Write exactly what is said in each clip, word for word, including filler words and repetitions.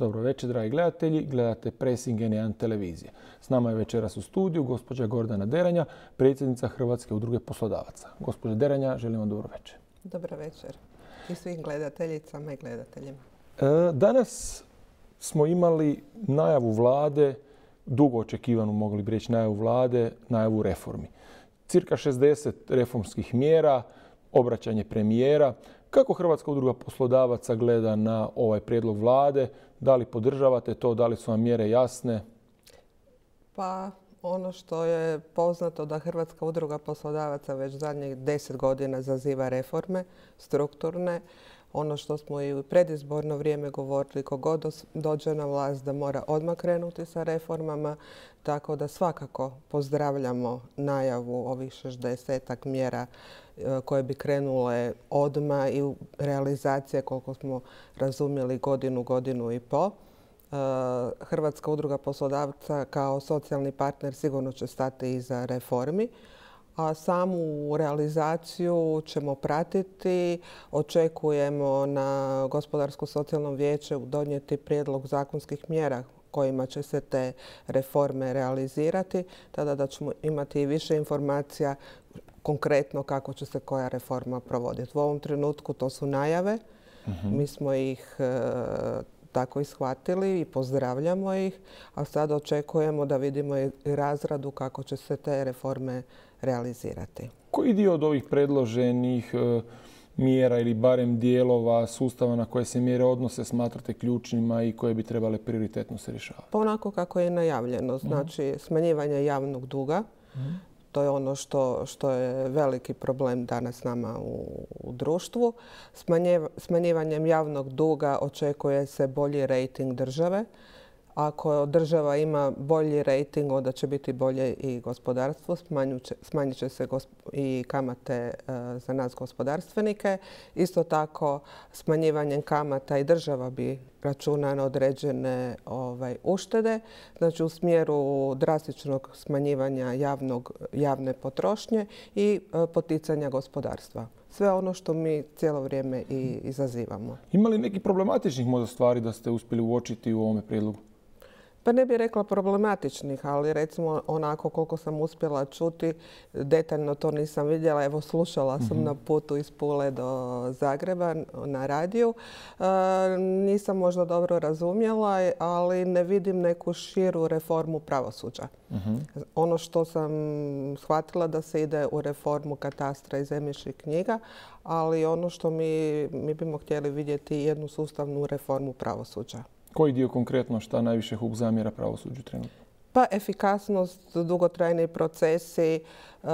Dobro večer, dragi gledatelji. Gledate Pressing N jedan televizije. S nama je večeras u studiju gospođa Gordana Deranja, predsjednica Hrvatske udruge poslodavaca. Gospođa Deranja, želim vam dobro večer. Dobro večer i svim gledateljicama i gledateljima. Danas smo imali najavu vlade, dugo očekivanu, mogli bi reći, najavu vlade, najavu reformi. Cirka šezdeset reformskih mjera, obraćanje premijera. Kako Hrvatska udruga poslodavaca gleda na ovaj prijedlog vlade? Da li podržavate to? Da li su vam mjere jasne? Pa ono što je poznato da Hrvatska udruga poslodavaca već zadnjih deset godina zaziva reforme strukturne. Ono što smo i u predizborno vrijeme govorili, kogod dođe na vlast da mora odmah krenuti sa reformama, tako da svakako pozdravljamo najavu ovih šezdesetak mjera koje bi krenule odmah i u realizacije, koliko smo razumjeli, godinu, godinu i po. Hrvatska udruga poslodavaca kao socijalni partner sigurno će stati iza reformi, a samu realizaciju ćemo pratiti. Očekujemo na Gospodarsko-socijalnom vijeću donijeti prijedlog zakonskih mjera kojima će se te reforme realizirati, tada da ćemo imati i više informacija konkretno kako će se koja reforma provoditi. U ovom trenutku to su najave. Uh-huh. Mi smo ih e, tako i shvatili i pozdravljamo ih, a sad očekujemo da vidimo i razradu kako će se te reforme realizirati. Koji dio od ovih predloženih e, mjera ili barem dijelova sustava na koje se mjere odnose smatrate ključnima i koje bi trebale prioritetno se rješavati? Pa onako kako je najavljeno, znači uh-huh. smanjivanje javnog duga. Uh-huh. To je ono što, što je veliki problem danas nama u, u društvu. Smanjiv, smanjivanjem javnog duga očekuje se bolji rejting države. Ako država ima bolji rejting, onda će biti bolje i gospodarstvo. Smanjit će se i kamate za nas gospodarstvenike. Isto tako, smanjivanjem kamata i država bi računa na određene ovaj, uštede. Znači u smjeru drastičnog smanjivanja javnog, javne potrošnje i poticanja gospodarstva. Sve ono što mi cijelo vrijeme i izazivamo. Ima li nekih problematičnih možda stvari da ste uspjeli uočiti u ovome prijedlogu? Pa ne bih rekla problematičnih, ali recimo onako koliko sam uspjela čuti, detaljno to nisam vidjela. Evo slušala sam mm-hmm. na putu iz Pule do Zagreba na radiju. E, nisam možda dobro razumjela, ali ne vidim neku širu reformu pravosuđa. Mm-hmm. Ono što sam shvatila da se ide u reformu katastra i zemljišnih knjiga, ali ono što mi, mi bimo htjeli vidjeti jednu sustavnu reformu pravosuđa. Koji dio konkretno šta najviše hub zamjera pravosuđu trenutno? Pa efikasnost, dugotrajni procesi. Uh,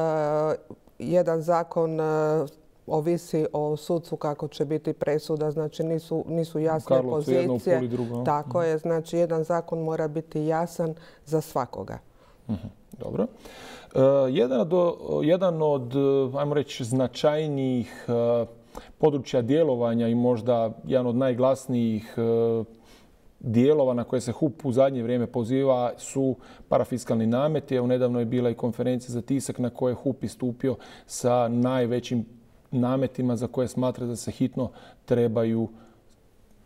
jedan zakon uh, ovisi o sudcu kako će biti presuda, znači nisu, nisu jasne Karlovcu pozicije. Jedno, u Puli drugo. Tako uh-huh. je, znači jedan zakon mora biti jasan za svakoga. Uh-huh. Dobro. Uh, jedan, do, jedan od, ajmo reći, značajnijih uh, područja djelovanja i možda jedan od najglasnijih uh, dijelova na koje se H U P u zadnje vrijeme poziva su parafiskalni nameti. Evo, nedavno je bila i konferencija za tisak na kojoj je H U P istupio sa najvećim nametima za koje smatra da se hitno trebaju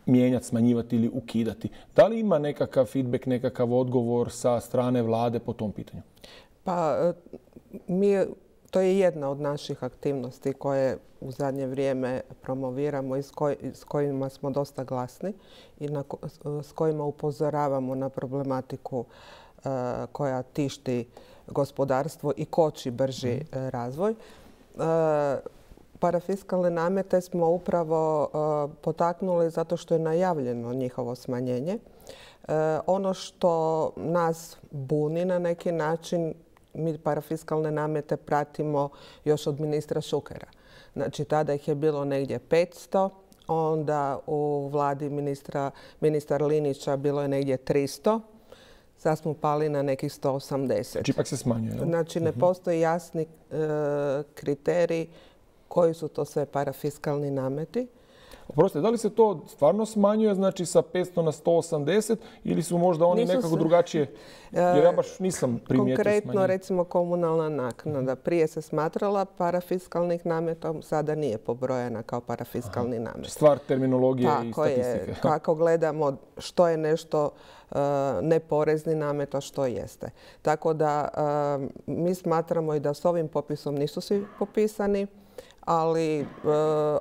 mijenjati, smanjivati ili ukidati. Da li ima nekakav feedback, nekakav odgovor sa strane vlade po tom pitanju? Pa mi... To je jedna od naših aktivnosti koje u zadnje vrijeme promoviramo i s, koj, s kojima smo dosta glasni i na, s kojima upozoravamo na problematiku uh, koja tišti gospodarstvo i koči brži mm. razvoj. Uh, parafiskalne namete smo upravo uh, potaknuli zato što je najavljeno njihovo smanjenje. Uh, ono što nas buni na neki način, mi parafiskalne namete pratimo još od ministra Šukera. Znači, tada ih je bilo negdje petsto, onda u vladi ministra, ministar Linića bilo je negdje tristo, sad smo pali na nekih sto osamdeset. Znači, ipak se smanjuje. Znači, ne postoji jasni e, kriterij koji su to sve parafiskalni nameti. Oprostite, da li se to stvarno smanjuje, znači sa petsto na sto osamdeset ili su možda oni Nisu nekako se- drugačije? Jer ja baš nisam primijetio Konkretno, smanjenje. recimo komunalna naknada. Prije se smatrala parafiskalnih nametom, sada nije pobrojena kao parafiskalni namet. Stvar terminologije i Tako je, statistike. kako gledamo što je nešto uh, neporezni namet, a što jeste. Tako da uh, mi smatramo i da s ovim popisom nisu svi popisani, ali e,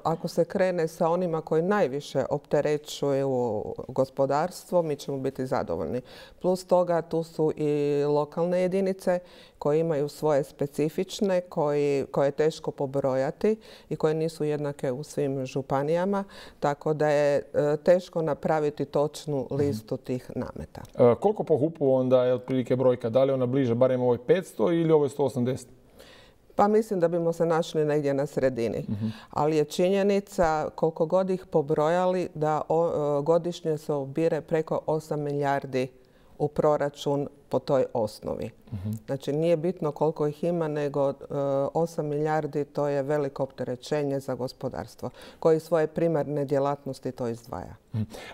ako se krene sa onima koji najviše opterećuju gospodarstvo, mi ćemo biti zadovoljni. Plus toga tu su i lokalne jedinice koje imaju svoje specifične, koji, koje je teško pobrojati i koje nisu jednake u svim županijama, tako da je e, teško napraviti točnu listu tih nameta. E, koliko po hupu onda je otprilike brojka? Da li je ona bliže barem ovoj petsto ili ovoj sto osamdeset? Pa mislim da bimo se našli negdje na sredini. Ali je činjenica, koliko god ih pobrojali, da o, godišnje se ubire preko osam milijardi u proračun po toj osnovi. Znači nije bitno koliko ih ima, nego e, osam milijardi to je veliko opterećenje za gospodarstvo koji svoje primarne djelatnosti to izdvaja.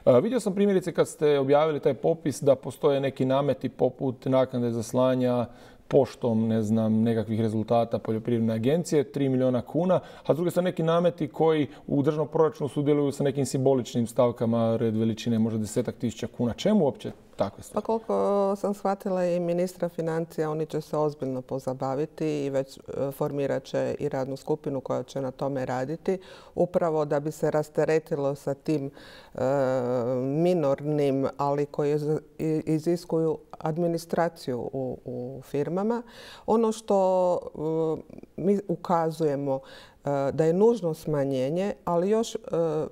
A, vidio sam primjerice kad ste objavili taj popis da postoje neki nameti poput naknade za slanja poštom, ne znam, nekakvih rezultata poljoprivredne agencije, tri milijuna kuna, a s druge strane neki nameti koji u državnom proračunu sudjeluju sa nekim simboličnim stavkama, red veličine možda desetak tisuća kuna. Čemu uopće takve stvari? Pa koliko sam shvatila i ministra financija, oni će se ozbiljno pozabaviti i već formirat će i radnu skupinu koja će na tome raditi, upravo da bi se rasteretilo sa tim e, minornim, ali koji iziskuju administraciju u, u firmama. Ono što e, mi ukazujemo da je nužno smanjenje, ali još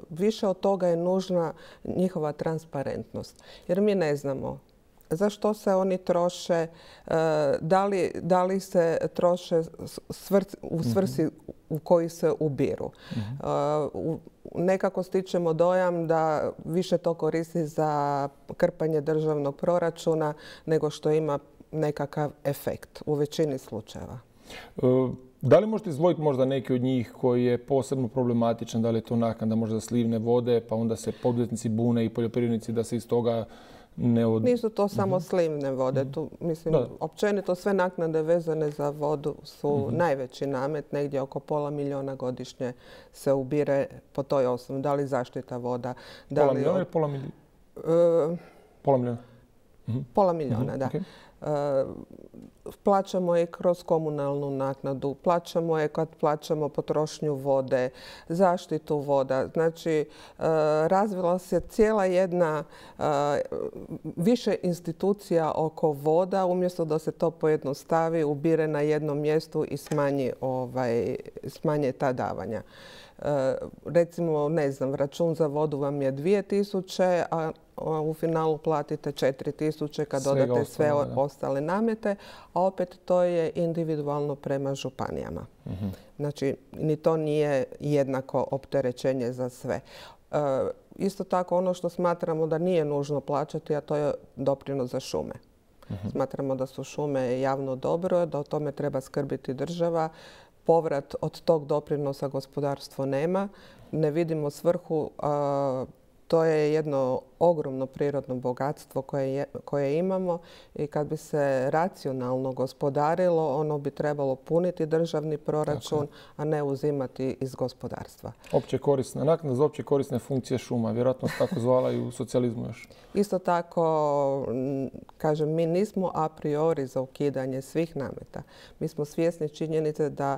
više od toga je nužna njihova transparentnost. Jer mi ne znamo za što se oni troše, da li, da li se troše u svrsi u koji se ubiru. Nekako stičemo dojam da više to koristi za krpanje državnog proračuna nego što ima nekakav efekt u većini slučajeva. Da li možete izdvojiti možda neki od njih koji je posebno problematičan? Da li je to naknada možda slivne vode, pa onda se poduzetnici bune i poljoprivrednici da se iz toga ne od... Nisu to samo slivne vode. Tu, mislim, Da. općenito sve naknade vezane za vodu su najveći namet. Negdje oko pola milijuna godišnje se ubire po toj osnovi. Da li zaštita voda? Da Pola li milijuna ili pola milijuna? E, Pola milijuna. Pola milijuna, da. Okay. E, plaćamo je kroz komunalnu naknadu, plaćamo je kad plaćamo potrošnju vode, zaštitu voda. Znači, e, razvila se cijela jedna e, više institucija oko voda, umjesto da se to pojednostavi, ubire na jednom mjestu i smanji, ovaj, smanje ta davanja. E, recimo, ne znam, račun za vodu vam je dvije tisuće, a u finalu platite četiri tisuće kad Svega dodate sve ostalo, da. ostale namete, a opet to je individualno prema županijama. Znači, ni to nije jednako opterećenje za sve. E, isto tako ono što smatramo da nije nužno plaćati, a to je doprinos za šume. Smatramo da su šume javno dobro, da o tome treba skrbiti država. Povrat od tog doprinosa gospodarstvo nema. Ne vidimo svrhu. A, to je jedno ogromno prirodno bogatstvo koje, je, koje imamo i kad bi se racionalno gospodarilo, ono bi trebalo puniti državni proračun, a ne uzimati iz gospodarstva. Opće korisna, naknada za opće korisne funkcije šuma, vjerojatno se tako zvala i u socijalizmu još. Isto tako, kažem, mi nismo a priori za ukidanje svih nameta. Mi smo svjesni činjenice da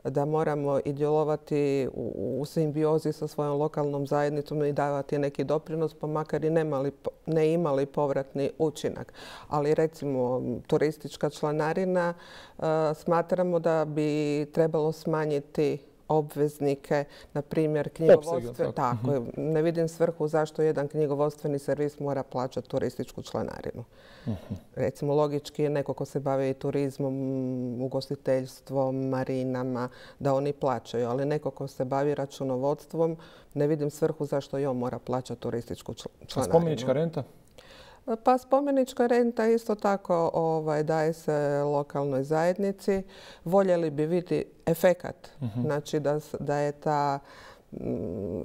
da moramo i djelovati u, u simbiozi sa svojom lokalnom zajednicom i davati neki doprinos, pa makar i nemali, ne imali povratni učinak. Ali recimo turistička članarina, uh, smatramo da bi trebalo smanjiti obveznike, na primjer knjigovodstve. Tako je. Ne vidim svrhu zašto jedan knjigovodstveni servis mora plaćati turističku članarinu. Uh-huh. Recimo, logički je neko ko se bavi turizmom, ugostiteljstvom, marinama, da oni plaćaju. Ali neko ko se bavi računovodstvom, ne vidim svrhu zašto i on mora plaćati turističku članarinu. A spomenička renta? Pa spomenička renta isto tako ovaj, daje se lokalnoj zajednici. Voljeli bi vidjeti efekat. Uh-huh. Znači da, da je ta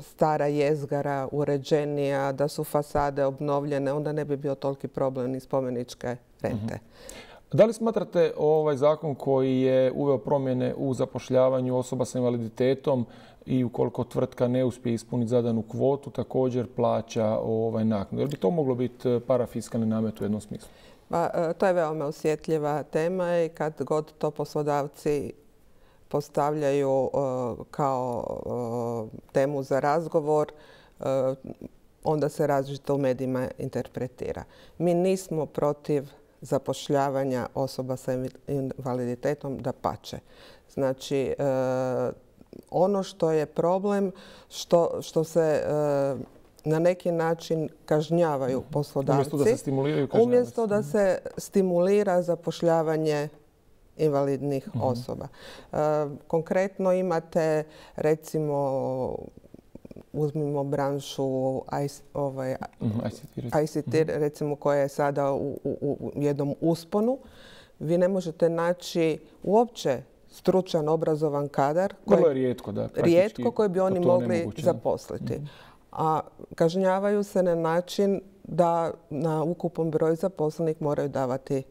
stara jezgara uređenija, da su fasade obnovljene, onda ne bi bio toliki problem ni spomeničke rente. Da li smatrate ovaj zakon koji je uveo promjene u zapošljavanju osoba sa invaliditetom i ukoliko tvrtka ne uspije ispuniti zadanu kvotu, također plaća ovaj naknadu? Jel bi to moglo biti parafiskalni namet u jednom smislu? Pa, to je veoma osjetljiva tema i kad god to poslodavci postavljaju kao temu za razgovor, onda se različito u medijima interpretira. Mi nismo protiv zapošljavanja osoba sa invaliditetom, dapače. Znači, ono što je problem, što, što se na neki način kažnjavaju poslodavci, umjesto da se stimuliraju kažnjavaju. Umjesto da se stimulira zapošljavanje invalidnih uh-huh. osoba. E, konkretno imate, recimo, uzmimo branšu I C T, ovaj, uh-huh. I C T, I C T uh-huh. recimo, koja je sada u, u, u jednom usponu. Vi ne možete naći uopće stručan, obrazovan kadar. Vrlo je rijetko, da. Rijetko koji bi oni mogli nemoguće, zaposliti. Uh-huh. A kažnjavaju se na način da na ukupan broj zaposlenih moraju davati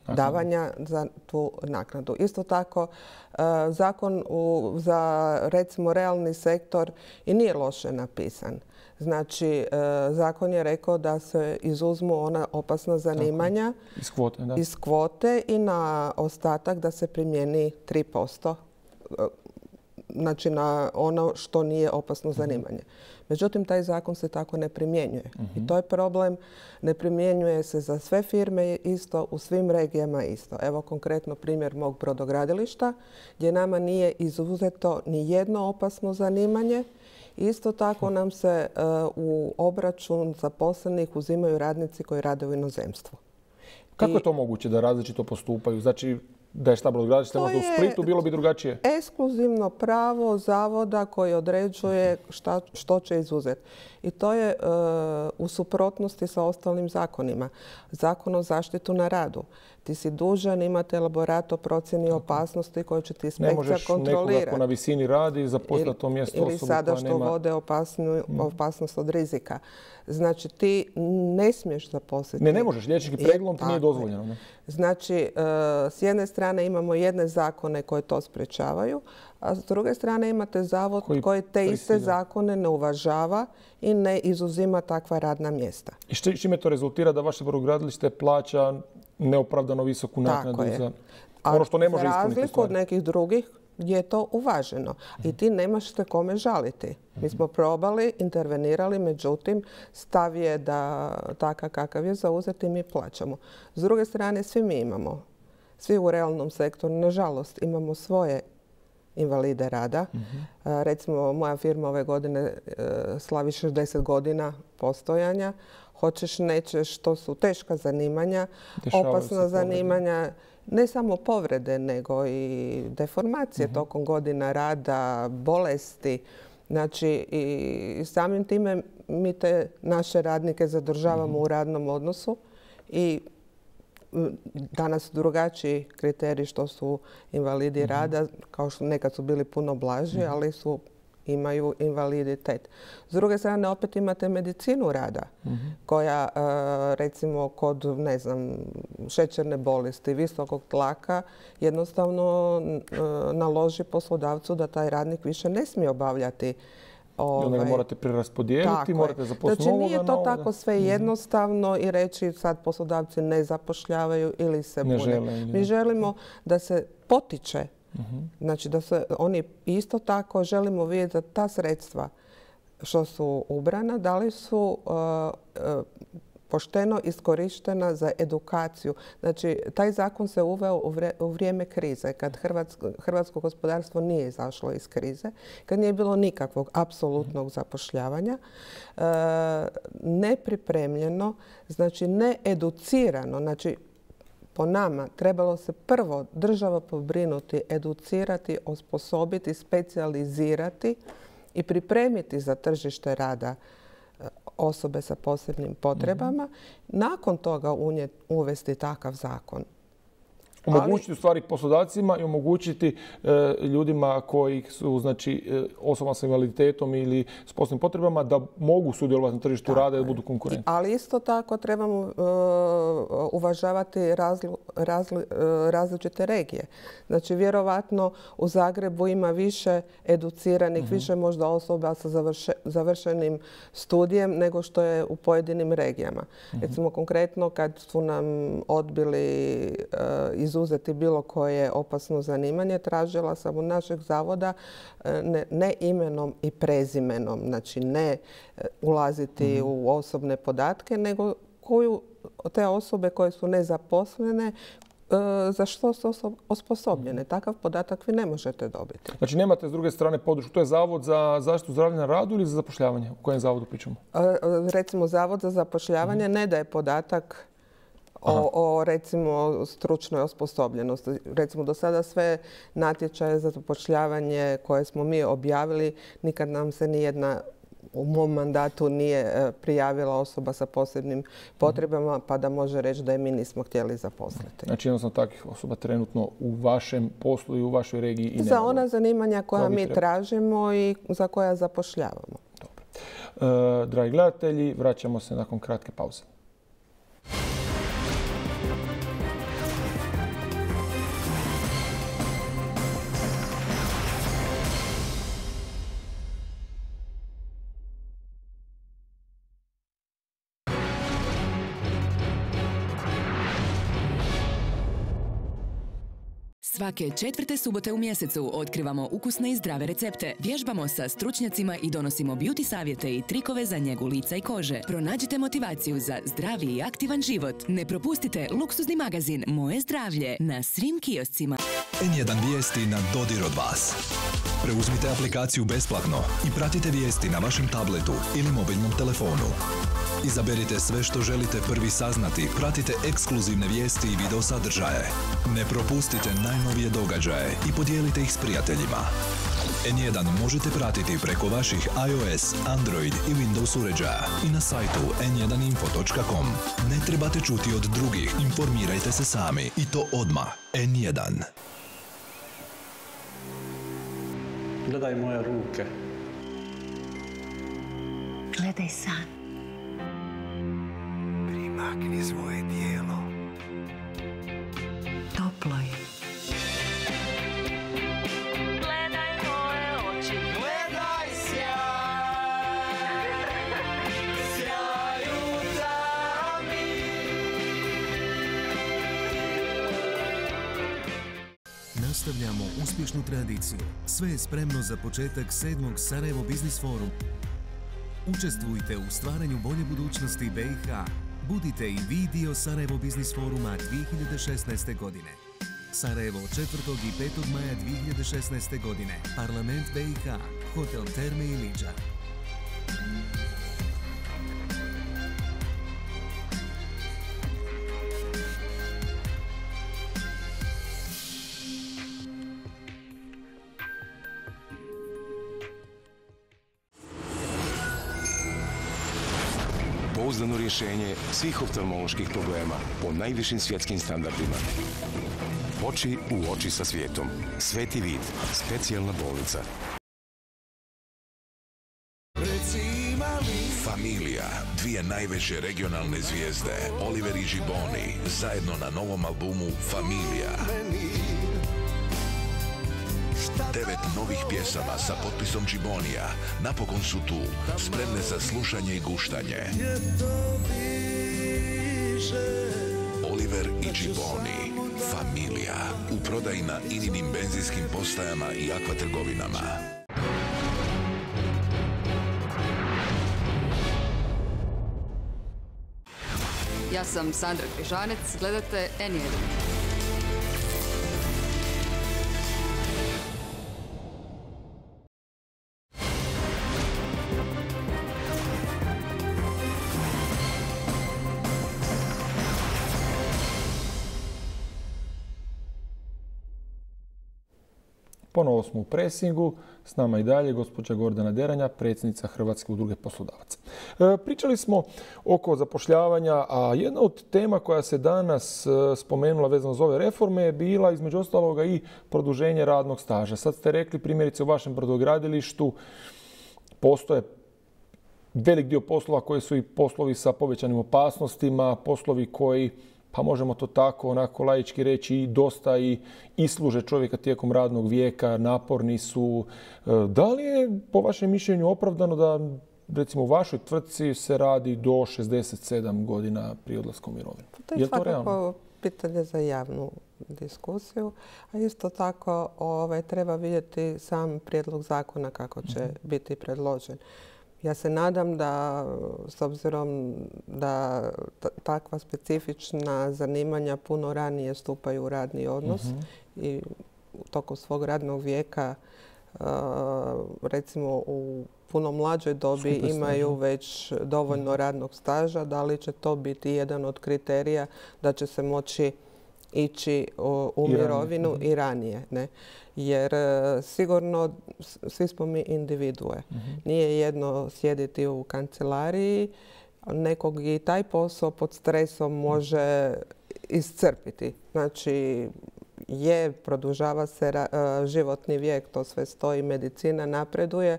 davanja za tu naknadu. Isto tako, zakon za, recimo, realni sektor i nije loše napisan. Znači, zakon je rekao da se izuzmu ona opasna zanimanja iz kvote, da. iz kvote i na ostatak da se primijeni tri posto. Znači, na ono što nije opasno zanimanje. Međutim, taj zakon se tako ne primjenjuje. Uh-huh. I to je problem. Ne primjenjuje se za sve firme isto, u svim regijama isto. Evo konkretno primjer mog brodogradilišta gdje nama nije izuzeto ni jedno opasno zanimanje. Isto tako nam se uh, u obračun zaposlenih uzimaju radnici koji rade u inozemstvu. Kako I, je to moguće da različito postupaju? Znači, da je šta brodogradilište možda u Splitu, bilo bi drugačije? Ekskluzivno pravo zavoda koji određuje šta, što će izuzeti. I to je uh, u suprotnosti sa ostalim zakonima. Zakon o zaštitu na radu. Ti si dužan imati elaborat o procjeni opasnosti koju će ti inspekcija kontrolirati. Ne možeš nekoga ko na visini radi zaposlati to mjesto osobu koja nema... Ili sada što vode opasnu, opasnost od rizika. Znači, ti ne smiješ zaposliti. Ne, ne možeš. Liječnički pregledom ti nije dozvoljeno. Ne? Znači, s jedne strane imamo jedne zakone koje to sprečavaju, a s druge strane imate zavod koji, koji te iste prisilja. zakone ne uvažava i ne izuzima takva radna mjesta. I što, čime to rezultira da vaše brodogradilište plaća neopravdano visoku naknadu za ono što ne može ispuniti? Za razliku od nekih drugih gdje je to uvaženo. I ti nemaš se kome žaliti. Mi smo probali, intervenirali, međutim, stav je da takav kakav je zauzeti mi plaćamo. S druge strane, svi mi imamo, svi u realnom sektoru, nažalost, imamo svoje invalide rada. Uh-huh. Recimo, moja firma ove godine slavi šezdeset godina postojanja. Hoćeš, nećeš, to su teška zanimanja, Dešavaju opasna zanimanja. Ne samo povrede, nego i deformacije uh-huh. tokom godina rada, bolesti. Znači, i samim time mi te naše radnike zadržavamo uh-huh. u radnom odnosu i danas su drugačiji kriteriji što su invalidi uh-huh. rada, kao što nekad su bili puno blaži, uh-huh. ali su imaju invaliditet. S druge strane, opet imate medicinu rada, uh-huh. koja, recimo, kod, ne znam, šećerne bolesti, visokog tlaka, jednostavno naloži poslodavcu da taj radnik više ne smije obavljati. Ovaj, onda ga morate preraspodijeliti, morate zaposliti novoga. Znači, nije to tako sve jednostavno i reći sad poslodavci ne zapošljavaju ili se bune. Žele, Mi želimo da se potiče. Uh-huh. Znači da se oni isto tako želimo vidjeti da ta sredstva što su ubrana, da li su uh, uh, pošteno iskorištena za edukaciju. Znači, taj zakon se uveo u, vre, u vrijeme krize, kad hrvatsko, hrvatsko gospodarstvo nije izašlo iz krize, kad nije bilo nikakvog apsolutnog zapošljavanja, uh, nepripremljeno, znači needucirano, znači po nama trebalo se prvo država pobrinuti, educirati, osposobiti, specijalizirati i pripremiti za tržište rada osobe sa posebnim potrebama. Mm-hmm. Nakon toga unijeti, uvesti takav zakon. Omogućiti u stvari poslodavcima i omogućiti e, ljudima koji su, znači, e, osobama sa invaliditetom ili s posebnim potrebama da mogu sudjelovati na tržištu rada i da budu konkurentni. Ali isto tako trebamo uh, uvažavati razli, razli, uh, različite regije. Znači, vjerovatno u Zagrebu ima više educiranih, uh-huh. više možda osoba sa završe, završenim studijem nego što je u pojedinim regijama. Uh-huh. Recimo, konkretno kad su nam odbili uh, izuzeti bilo koje opasno zanimanje, tražila sam od našeg zavoda ne, ne imenom i prezimenom, znači ne ulaziti mm-hmm. u osobne podatke, nego koju te osobe koje su nezaposlene, za što su osposobljene. Takav podatak vi ne možete dobiti. Znači nemate s druge strane podršku. To je Zavod za zaštitu zdravlja na radu ili za zapošljavanje? O kojem zavodu pričamo? Recimo, Zavod za zapošljavanje mm-hmm. ne daje podatak O, o recimo stručnoj osposobljenosti. Recimo do sada sve natječaje za zapošljavanje koje smo mi objavili, nikad nam se nijedna u mom mandatu nije prijavila osoba sa posebnim potrebama pa da može reći da je mi nismo htjeli zaposliti. Znači jednostavno takvih osoba trenutno u vašem poslu i u vašoj regiji i nema. Za ona zanimanja koja mi treba. tražimo i za koja zapošljavamo. Dobro. E, dragi gledatelji, vraćamo se nakon kratke pauze. Svake četvrte subote u mjesecu otkrivamo ukusne i zdrave recepte, vježbamo sa stručnjacima i donosimo beauty savjete i trikove za njegu lica i kože. Pronađite motivaciju za zdravi i aktivan život. Ne propustite luksuzni magazin Moje zdravlje na svim kioscima. en jedan vijesti na dodir od vas. Preuzmite aplikaciju besplatno i pratite vijesti na vašem tabletu ili mobilnom telefonu. Izaberite sve što želite prvi saznati, pratite ekskluzivne vijesti i video sadržaje. Ne propustite najnovije događaje i podijelite ih s prijateljima. en jedan možete pratiti preko vaših iOS, Android i Windows uređaja i na sajtu en jedan info točka com. Ne trebate čuti od drugih, informirajte se sami i to odmah. en jedan. Gledaj moje ruke. Gledaj san. Primakni svoje tijelo. Toplo je. Gledaj moje oči. Gledaj sjaj. Sjaj u tami. Nastavljamo uspješnu tradiciju. Sve je spremno za početak sedmog Sarajevo Biznis Forum. Učestvujte u stvaranju bolje budućnosti B i H. Budite i vi dio Sarajevo Biznis Foruma dvije hiljade šesnaeste. godine. Sarajevo četvrtog i petog maja dvije hiljade šesnaeste. godine. Parlament B i H. Hotel Terme i Liđa. Pouzdano rješenje svih oftalmoloških problema po najvišim svjetskim standardima. Oči u oči sa svijetom. Sveti vid. Specijalna bolnica. Familija, dvije najveće regionalne zvijezde, Oliver i Gibboni, zajedno na novom albumu Familija. Devet novih pjesama sa potpisom Gibbonija napokon su tu, spremne za slušanje i guštanje. Oliver i Gibboni, Familija, u prodaji na Ininim benzinskim postajama i akva trgovinama. Ja sam Sandra Križanec, gledate en jedan. Ponovo smo u presingu. S nama i dalje gospođa Gordana Deranja, predsjednica Hrvatske udruge poslodavaca. E, pričali smo oko zapošljavanja, a jedna od tema koja se danas e, spomenula vezano za ove reforme je bila između ostaloga i produženje radnog staža. Sad ste rekli primjerice u vašem brodogradilištu postoje velik dio poslova koji su i poslovi sa povećanim opasnostima, poslovi koji, pa možemo to tako onako laički reći, i dosta i isluže čovjeka tijekom radnog vijeka, naporni su. Da li je po vašem mišljenju opravdano da recimo u vašoj tvrtci se radi do šezdeset sedam godina prije odlaska u mirovinu? To je, je svakako realno? Pitanje za javnu diskusiju, a isto tako ovaj, treba vidjeti sam prijedlog zakona kako će mm-hmm. biti predložen. Ja se nadam da, s obzirom da takva specifična zanimanja puno ranije stupaju u radni odnos mm-hmm. i u toku svog radnog vijeka, recimo u puno mlađoj dobi Super imaju staža. Već dovoljno mm-hmm. radnog staža, da li će to biti jedan od kriterija da će se moći ići u I mirovinu ranije. i ranije. Ne? Jer sigurno svi smo mi individue. Mm-hmm. Nije jedno sjediti u kancelariji, nekog i taj posao pod stresom može iscrpiti. Znači, je, produžava se životni vijek, to sve stoji, medicina napreduje,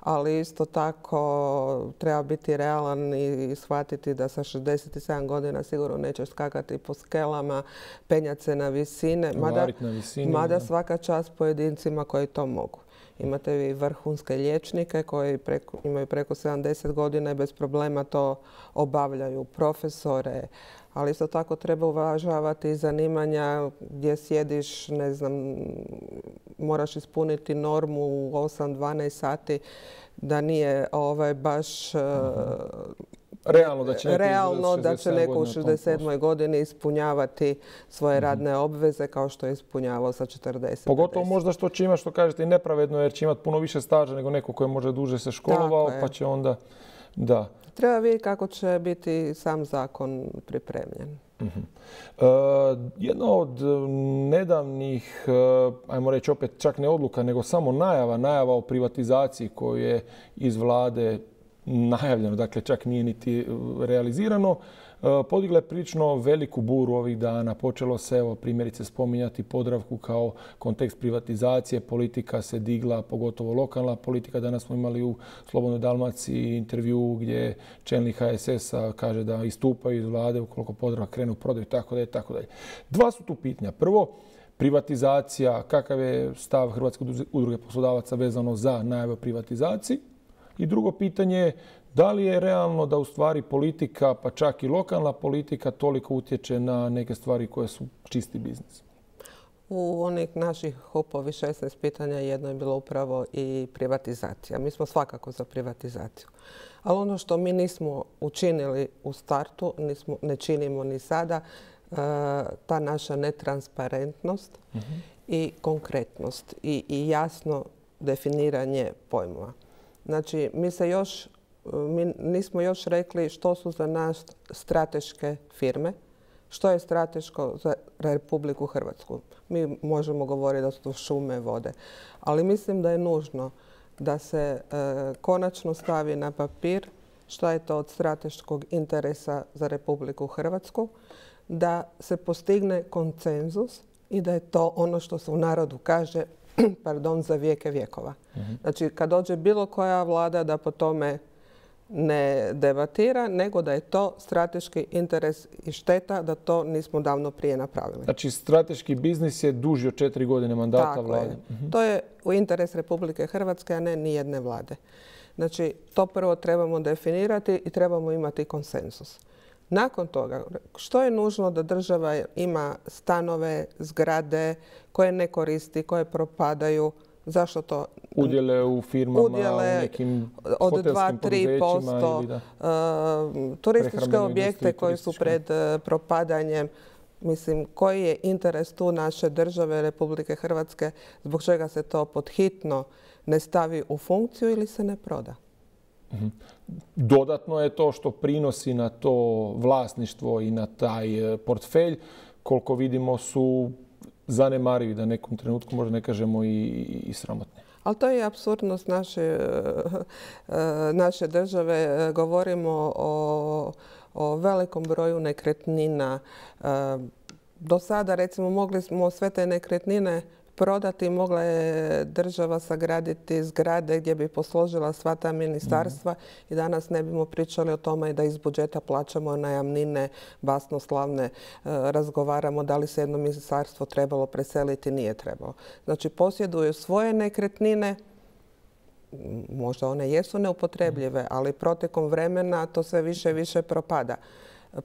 ali isto tako treba biti realan i shvatiti da sa šezdeset sedam godina sigurno nećeš skakati po skelama, penjati se na visine, mada, na visini, mada svaka čast pojedincima koji to mogu. Imate vi vrhunske liječnike koji preko, imaju preko sedamdeset godina i bez problema to obavljaju, profesore, ali isto tako treba uvažavati zanimanja gdje sjediš, ne znam, moraš ispuniti normu u osam do dvanaest sati, da nije ovaj, baš realno da će neko, realno da će neko u šezdeset sedmoj godini ispunjavati svoje radne obveze kao što je ispunjavao sa četrdeset. Pogotovo možda što će imati, što kažete, i nepravedno jer će imati puno više staža nego neko koji može duže se školovao, pa će onda... Da. Treba vidjeti kako će biti sam zakon pripremljen. Uh-huh. Uh, jedna od nedavnih, uh, ajmo reći opet čak ne odluka, nego samo najava, najava o privatizaciji koju je iz vlade najavljeno, dakle čak nije niti realizirano, podigla je prilično veliku buru ovih dana. Počelo se, evo, primjerice spominjati Podravku kao kontekst privatizacije. Politika se digla, pogotovo lokalna politika. Danas smo imali u Slobodnoj Dalmaciji intervju gdje čelnik ha es es-a kaže da istupaju iz vlade ukoliko Podravka krenu u prodaju, tako dalje, tako dalje. Dva su tu pitanja. Prvo, privatizacija, kakav je stav Hrvatske udruge poslodavaca vezano za najave o privatizaciji? I drugo pitanje je da li je realno da u stvari politika, pa čak i lokalna politika, toliko utječe na neke stvari koje su čisti biznis? U onih naših hupovi šesnaest pitanja jedno je bilo upravo i privatizacija. Mi smo svakako za privatizaciju. Ali ono što mi nismo učinili u startu, nismo, ne činimo ni sada, ta naša netransparentnost uh-huh. i konkretnost i, i jasno definiranje pojmova. Znači, mi se još, mi nismo još rekli što su za nas strateške firme, što je strateško za Republiku Hrvatsku. Mi možemo govoriti da su to šume, vode, ali mislim da je nužno da se e, konačno stavi na papir što je to od strateškog interesa za Republiku Hrvatsku, da se postigne konsenzus i da je to ono što se u narodu kaže pardon, za vijeke vjekova. Uh-huh. Znači, kad dođe bilo koja vlada da po tome ne debatira, nego da je to strateški interes i šteta da to nismo davno prije napravili. Znači, strateški biznis je duži od četiri godine mandata Tako vlade. Je. Uh-huh. To je u interes Republike Hrvatske, a ne nijedne vlade. Znači, to prvo trebamo definirati i trebamo imati konsenzus. Nakon toga, što je nužno da država ima stanove, zgrade koje ne koristi, koje propadaju, zašto to? Udjele u firmama, Udjele u nekim od hotelskim dva do tri posto, ili da, uh, turističke objekte koji su pred uh, propadanjem. Mislim, koji je interes tu naše države, Republike Hrvatske, zbog čega se to podhitno ne stavi u funkciju ili se ne proda? Dodatno je to što prinosi na to vlasništvo i na taj portfelj, koliko vidimo, su zanemarivi, da nekom trenutku možda ne kažemo i, i sramotni. Ali to je apsurdnost naše, naše države. Govorimo o, o velikom broju nekretnina. Do sada, recimo, mogli smo sve te nekretnine prodati, mogla je država sagraditi zgrade gdje bi posložila sva ta ministarstva mm. i danas ne bismo pričali o tome da iz budžeta plaćamo najamnine basnoslavne, e, razgovaramo da li se jedno ministarstvo trebalo preseliti, nije trebalo. Znači, posjeduju svoje nekretnine, možda one jesu neupotrebljive, ali protekom vremena to sve više i više propada.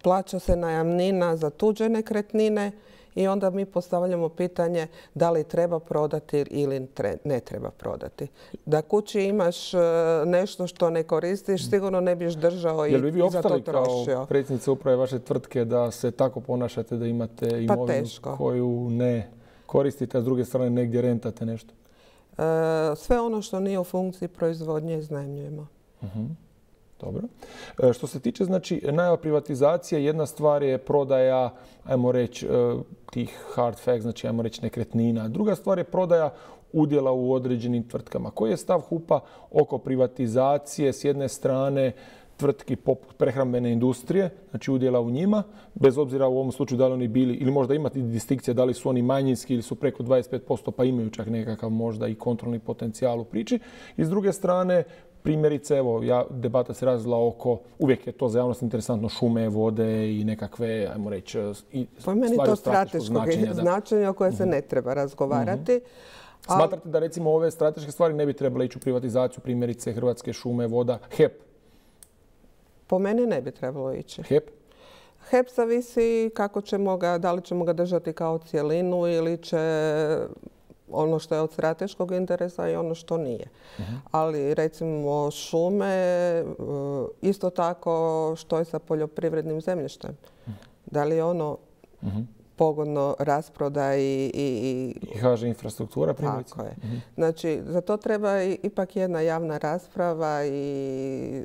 Plaća se najamnina za tuđe nekretnine i onda mi postavljamo pitanje da li treba prodati ili ne treba prodati. Da kući imaš nešto što ne koristiš, sigurno ne biš držao i, i za to trošio. Jel bi vi opstali kao predsjednica uprave vaše tvrtke da se tako ponašate, da imate imovinu pa koju ne koristite, a s druge strane negdje rentate nešto? E, sve ono što nije u funkciji proizvodnje iznajmljujemo. Uh-huh. Dobro. Što se tiče, znači, najava privatizacije, jedna stvar je prodaja, ajmo reći, tih hard facts, znači, ajmo reći, nekretnina. Druga stvar je prodaja udjela u određenim tvrtkama. Koji je stav H U P-a oko privatizacije s jedne strane tvrtki poput prehrambene industrije, znači udjela u njima, bez obzira u ovom slučaju da li oni bili, ili možda imati distinkcija da li su oni manjinski ili su preko dvadeset pet posto pa imaju čak nekakav možda i kontrolni potencijal u priči. I s druge strane, primjerice, evo, ja, debata se razvila oko, uvijek je to za javnost interesantno, šume, vode i nekakve, ajmo reći, i po meni to strateškog značenja, značenja o koje se ne treba razgovarati. Mm-hmm. Smatrate da, recimo, ove strateške stvari ne bi trebale ići u privatizaciju, primjerice Hrvatske šume, voda, H E P? Po meni ne bi trebalo ići. H E P? H E P zavisi kako ćemo ga, da li ćemo ga držati kao cijelinu ili će ono što je od strateškog interesa i ono što nije. Uh-huh. Ali recimo šume, isto tako što je sa poljoprivrednim zemljištem. Uh-huh. Da li je ono uh-huh. pogodno rasprodaji i... I, I H Ž infrastruktura primjerice. Tako je. Uh-huh. Znači, za to treba ipak jedna javna rasprava i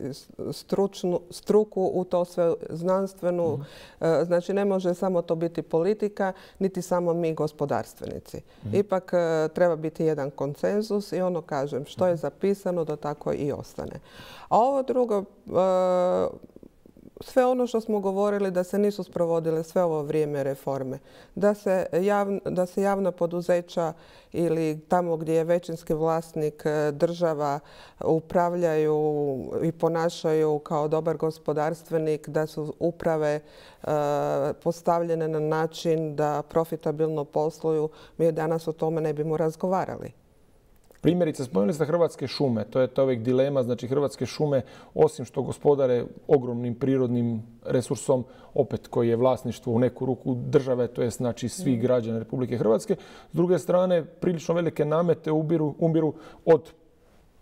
stručnu, struku u to sve znanstvenu. Uh-huh. Znači, ne može samo to biti politika, niti samo mi gospodarstvenici. Uh-huh. Ipak treba biti jedan konsenzus i ono kažem, što je zapisano da tako i ostane. A ovo drugo... Uh, sve ono što smo govorili da se nisu sprovodile sve ovo vrijeme reforme, da se, javn, da se javna poduzeća ili tamo gdje je većinski vlasnik država upravljaju i ponašaju kao dobar gospodarstvenik, da su uprave e, postavljene na način da profitabilno posluju, mi danas o tome ne bimo razgovarali. Primjerice, spomenuli ste Hrvatske šume. To je to uvijek dilema. Znači, Hrvatske šume, osim što gospodare ogromnim prirodnim resursom, opet koji je vlasništvo u neku ruku države, to je znači svih građana Republike Hrvatske. S druge strane, prilično velike namete ubiru, ubiru od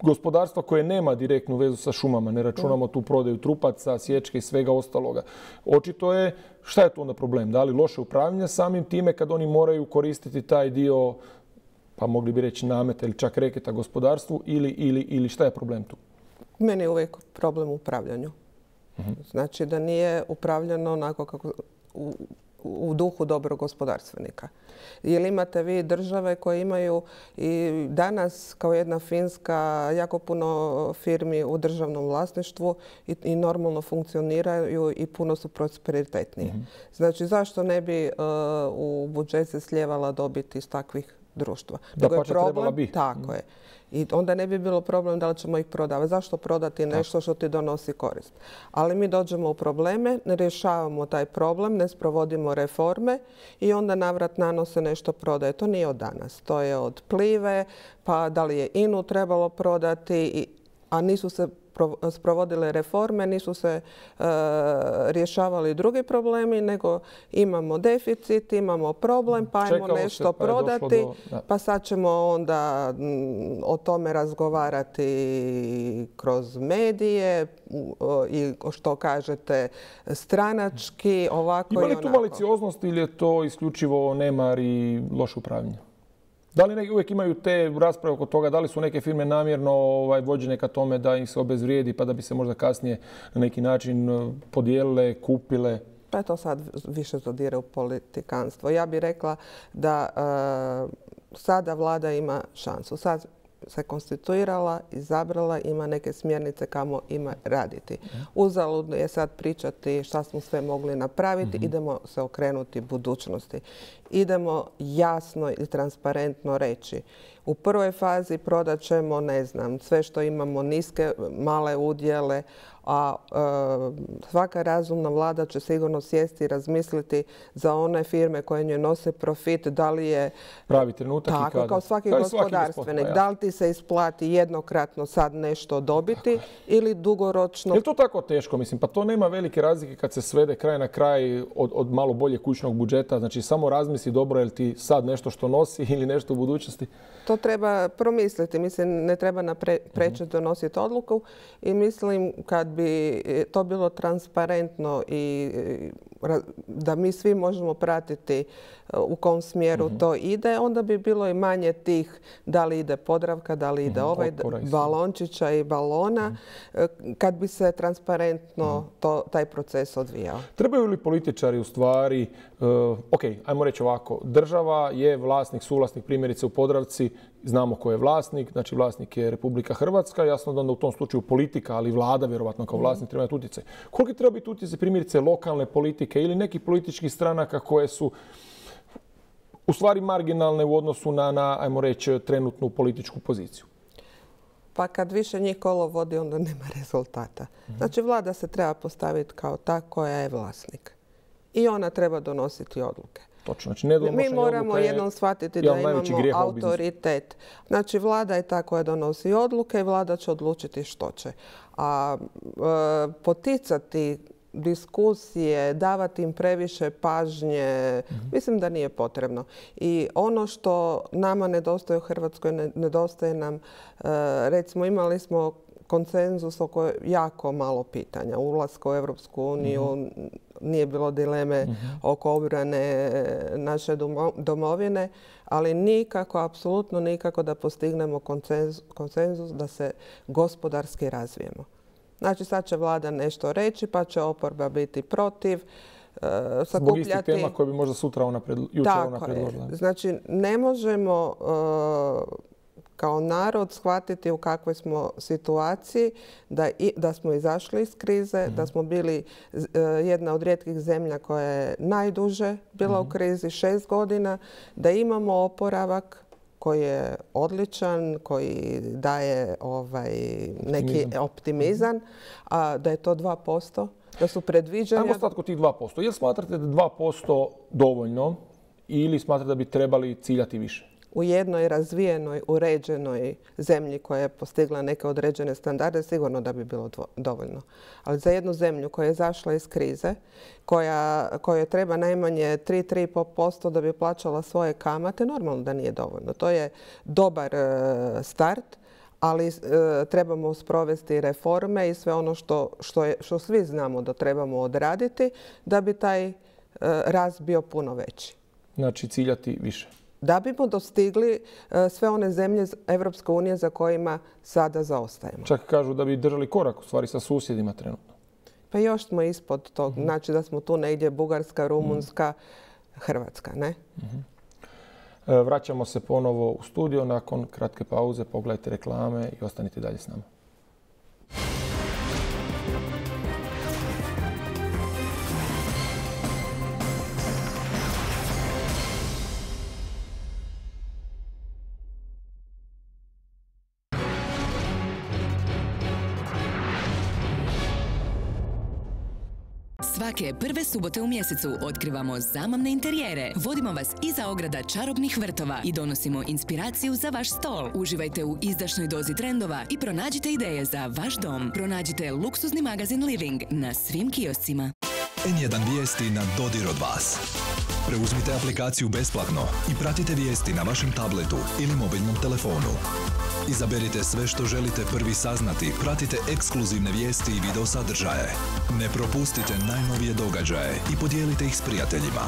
gospodarstva koje nema direktnu vezu sa šumama. Ne računamo tu prodaju trupaca, sječke i svega ostaloga. Očito je, šta je tu onda problem? Da li loše upravljanje samim time kad oni moraju koristiti taj dio, pa mogli bi reći nameta ili čak reketa gospodarstvu, ili, ili, ili šta je problem tu? Meni je uvijek problem u upravljanju. Uh-huh. Znači da nije upravljano onako kako u, u duhu dobrog gospodarstvenika. Jer imate vi države koje imaju i danas kao jedna Finska jako puno firmi u državnom vlasništvu i, i normalno funkcioniraju i puno su prosperitetniji. Uh-huh. Znači zašto ne bi uh, u budžet se slijevala dobit iz takvih društva? Da pa će trebala bi. Tako je. I onda ne bi bilo problem da li ćemo ih prodavati. Zašto prodati nešto što ti donosi korist? Ali mi dođemo u probleme, ne rješavamo taj problem, ne sprovodimo reforme i onda navrat nanose nešto prodaje. To nije od danas. To je od Plive, pa da li je I N U trebalo prodati, a nisu se sprovodile reforme, nisu se e, rješavali drugi problemi, nego imamo deficit, imamo problem, pa ajmo nešto pa prodati, do, pa sad ćemo onda m, o tome razgovarati kroz medije i što kažete stranački, ovako i onako. Ima li tu malicioznost ili je to isključivo nemar i loše upravljanje? Da li uvijek imaju te rasprave oko toga, da li su neke firme namjerno ovaj, vođene ka tome da ih se obezvrijedi pa da bi se možda kasnije na neki način podijelile, kupile? Pa je to sad više zadire u politikanstvo. Ja bih rekla da e, sada vlada ima šansu. Sad se konstituirala, izabrala, ima neke smjernice kamo ima raditi. Uzaludno je sad pričati šta smo sve mogli napraviti, mm-hmm. idemo se okrenuti budućnosti. Idemo jasno i transparentno reći. U prvoj fazi prodat ćemo, ne znam, sve što imamo, niske, male udjele, a e, svaka razumna vlada će sigurno sjesti i razmisliti za one firme koje njoj nose profit, da li je pravi trenutak tako, i kada. kao svaki kao gospodarstvenik, da li ti se isplati jednokratno sad nešto dobiti ili dugoročno. Je li to tako teško? Mislim, pa to nema velike razlike kad se svede kraj na kraj od, od malo bolje kućnog budžeta. Znači, samo razmisli dobro je li ti sad nešto što nosi ili nešto u budućnosti. To treba promisliti. Mislim, ne treba naprečiti donositi odluku i mislim kad bi to bilo transparentno i da mi svi možemo pratiti u kom smjeru mm-hmm. to ide, onda bi bilo i manje tih da li ide Podravka, da li ide mm-hmm. ovaj balončića i balona, mm-hmm. kad bi se transparentno mm-hmm. to, taj proces odvijao. Trebaju li političari u stvari, uh, ok, ajmo reći ovako, država je vlasnik, suvlasnik primjerice u Podravci, znamo ko je vlasnik, znači vlasnik je Republika Hrvatska, jasno da onda u tom slučaju politika, ali vlada vjerovatno kao vlasnik treba imati utjecaj. Koliko treba biti utjecaj primjerice lokalne politike ili nekih političkih stranaka koje su u stvari marginalne u odnosu na, na ajmo reći, trenutnu političku poziciju? Pa kad više njih kolo vodi, onda nema rezultata. Znači, vlada se treba postaviti kao ta koja je vlasnik. I ona treba donositi odluke. Točno, znači ne Mi moramo jednom shvatiti da imamo autoritet. Znači, vlada je ta koja donosi odluke i vlada će odlučiti što će. A e, poticati diskusije, davati im previše pažnje, mm-hmm. mislim da nije potrebno. I ono što nama nedostaje u Hrvatskoj, nedostaje nam, recimo imali smo konsenzus oko jako malo pitanja. Ulaska u Europsku uniju, mm-hmm. nije bilo dileme mm-hmm. oko obrane naše domovine, ali nikako, apsolutno nikako da postignemo konsenzus da se gospodarski razvijemo. Znači, sad će vlada nešto reći, pa će oporba biti protiv. Uh, Zbog istih tema koje bi možda sutra ona pred, jučer ona predložila. Znači, ne možemo uh, kao narod shvatiti u kakvoj smo situaciji, da, i, da smo izašli iz krize, mm-hmm. da smo bili uh, jedna od rijetkih zemlja koja je najduže bila mm-hmm. u krizi, šest godina, da imamo oporavak koji je odličan, koji daje ovaj, neki optimizam, optimizam a da je to dva posto, da su predviđanja... Ajmo stati kod tih dva posto. Jel smatrate da je dva posto dovoljno ili smatrate da bi trebali ciljati više? U jednoj razvijenoj, uređenoj zemlji koja je postigla neke određene standarde, sigurno da bi bilo dovoljno. Ali za jednu zemlju koja je zašla iz krize, koja, kojoj treba najmanje tri do tri i pol posto da bi plaćala svoje kamate, normalno da nije dovoljno. To je dobar e, start, ali e, trebamo sprovesti reforme i sve ono što, što, je, što svi znamo da trebamo odraditi da bi taj e, rast bio puno veći. Znači ciljati više. Da bismo dostigli sve one zemlje Evropske unije za kojima sada zaostajemo. Čak kažu da bi držali korak u stvari sa susjedima trenutno. Pa još smo ispod tog. Mm-hmm. Znači da smo tu negdje Bugarska, Rumunjska, mm-hmm. Hrvatska, ne? Mm-hmm. Vraćamo se ponovo u studio nakon kratke pauze. Pogledajte reklame i ostanite dalje s nama. Svake prve subote u mjesecu otkrivamo zamamne interijere, vodimo vas iza ograda čarobnih vrtova i donosimo inspiraciju za vaš stol. Uživajte u izdašnoj dozi trendova i pronađite ideje za vaš dom. Pronađite luksuzni magazin Living na svim kioscima. en jedan vijesti na dodir od vas. Preuzmite aplikaciju besplatno i pratite vijesti na vašem tabletu ili mobilnom telefonu. Izaberite sve što želite prvi saznati, pratite ekskluzivne vijesti i video sadržaje. Ne propustite najnovije događaje i podijelite ih s prijateljima.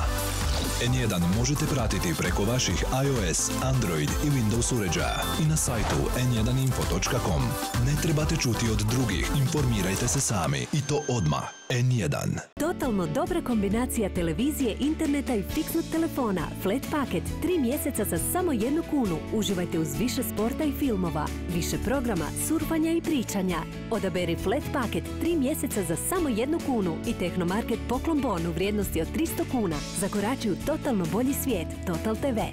en jedan možete pratiti preko vaših iOS, Android i Windows uređaja i na sajtu en jedan info točka com. Ne trebate čuti od drugih, informirajte se sami i to odmah. en jedan. Totalno dobra kombinacija televizije, interneta i fiksnog telefona. Flat paket, tri mjeseca za samo jednu kunu. Uživajte uz više sporta i filmova, više programa, surfanja i pričanja. Odaberi Flat paket, tri mjeseca za samo jednu kunu i Tehnomarket Poklon Bon u vrijednosti od tristo kuna. Zakorači u totalno bolji svijet. Total te ve.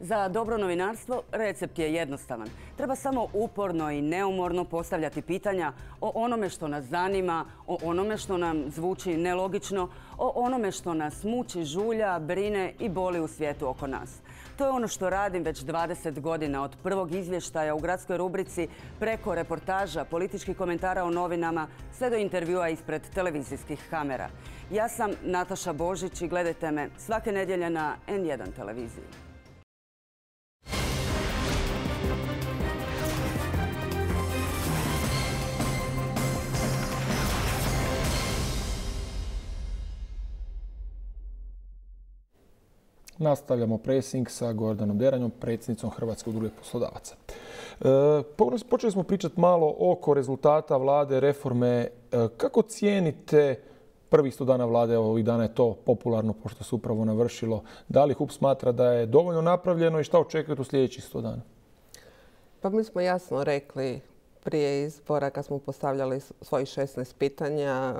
Za dobro novinarstvo recept je jednostavan. Treba samo uporno i neumorno postavljati pitanja o onome što nas zanima, o onome što nam zvuči nelogično, o onome što nas muči, žulja, brine i boli u svijetu oko nas. To je ono što radim već dvadeset godina, od prvog izvještaja u gradskoj rubrici, preko reportaža, političkih komentara o novinama, sve do intervjua ispred televizijskih kamera. Ja sam Nataša Božić i gledajte me svake nedjelje na en jedan televiziji. Nastavljamo presing sa Gordanom Deranjom, predsjednicom Hrvatske udruge poslodavaca. E, počeli smo pričati malo oko rezultata vlade, reforme. E, kako cijenite prvih sto dana vlade? Evo, ovih dana je to popularno pošto se upravo navršilo. Da li H U P smatra da je dovoljno napravljeno i šta očekujete u sljedećih sto dana? Pa mi smo jasno rekli prije izbora kad smo postavljali svojih šesnaest pitanja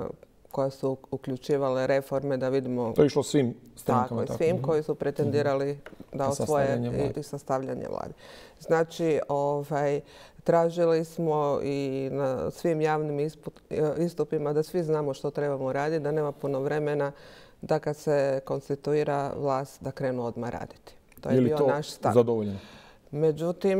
koja su uključivale reforme, da vidimo... To je išlo svim strankama. Tako, svim koji su pretendirali da osvoje i sastavljanje vlade. Znači, ovaj, tražili smo i na svim javnim istupima da svi znamo što trebamo raditi, da nema puno vremena da kad se konstituira vlast da krenu odmah raditi. To je, je bio naš stav. Zadovoljeno? Međutim,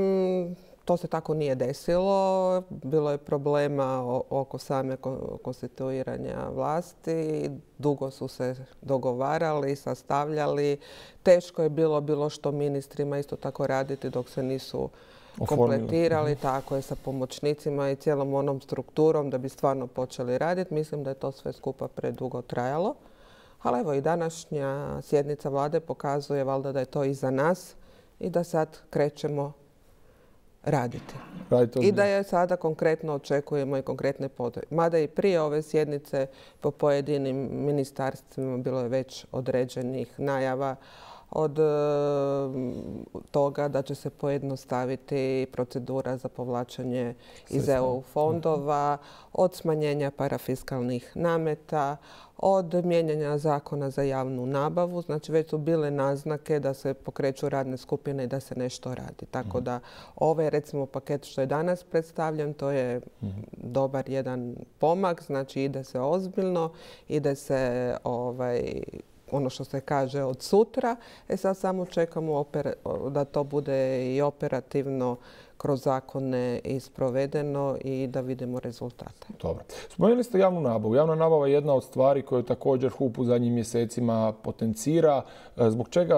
to se tako nije desilo. Bilo je problema oko same konstituiranja vlasti. Dugo su se dogovarali, sastavljali. Teško je bilo bilo što ministrima isto tako raditi dok se nisu kompletirali. Tako je, sa pomoćnicima i cijelom onom strukturom da bi stvarno počeli raditi. Mislim da je to sve skupa predugo trajalo. Ali evo i današnja sjednica vlade pokazuje valjda da je to iza nas i da sad krećemo raditi. I da je sada konkretno očekujemo i konkretne potrebe. Mada i prije ove sjednice po pojedinim ministarstvima bilo je već određenih najava od toga da će se pojednostaviti procedura za povlačenje iz E U fondova, od smanjenja parafiskalnih nameta, od mijenjanja zakona za javnu nabavu. Znači već su bile naznake da se pokreću radne skupine i da se nešto radi. Tako da ovaj recimo paket što je danas predstavljen, to je dobar jedan pomak. Znači ide se ozbiljno, ide se ovaj, ono što se kaže od sutra. E sad samo čekamo da to bude i operativno kroz zakone i sprovedeno i da vidimo rezultate. Dobro. Spomenuli ste javnu nabavu. Javna nabava je jedna od stvari koju također H U P u zadnjim mjesecima potencira. Zbog čega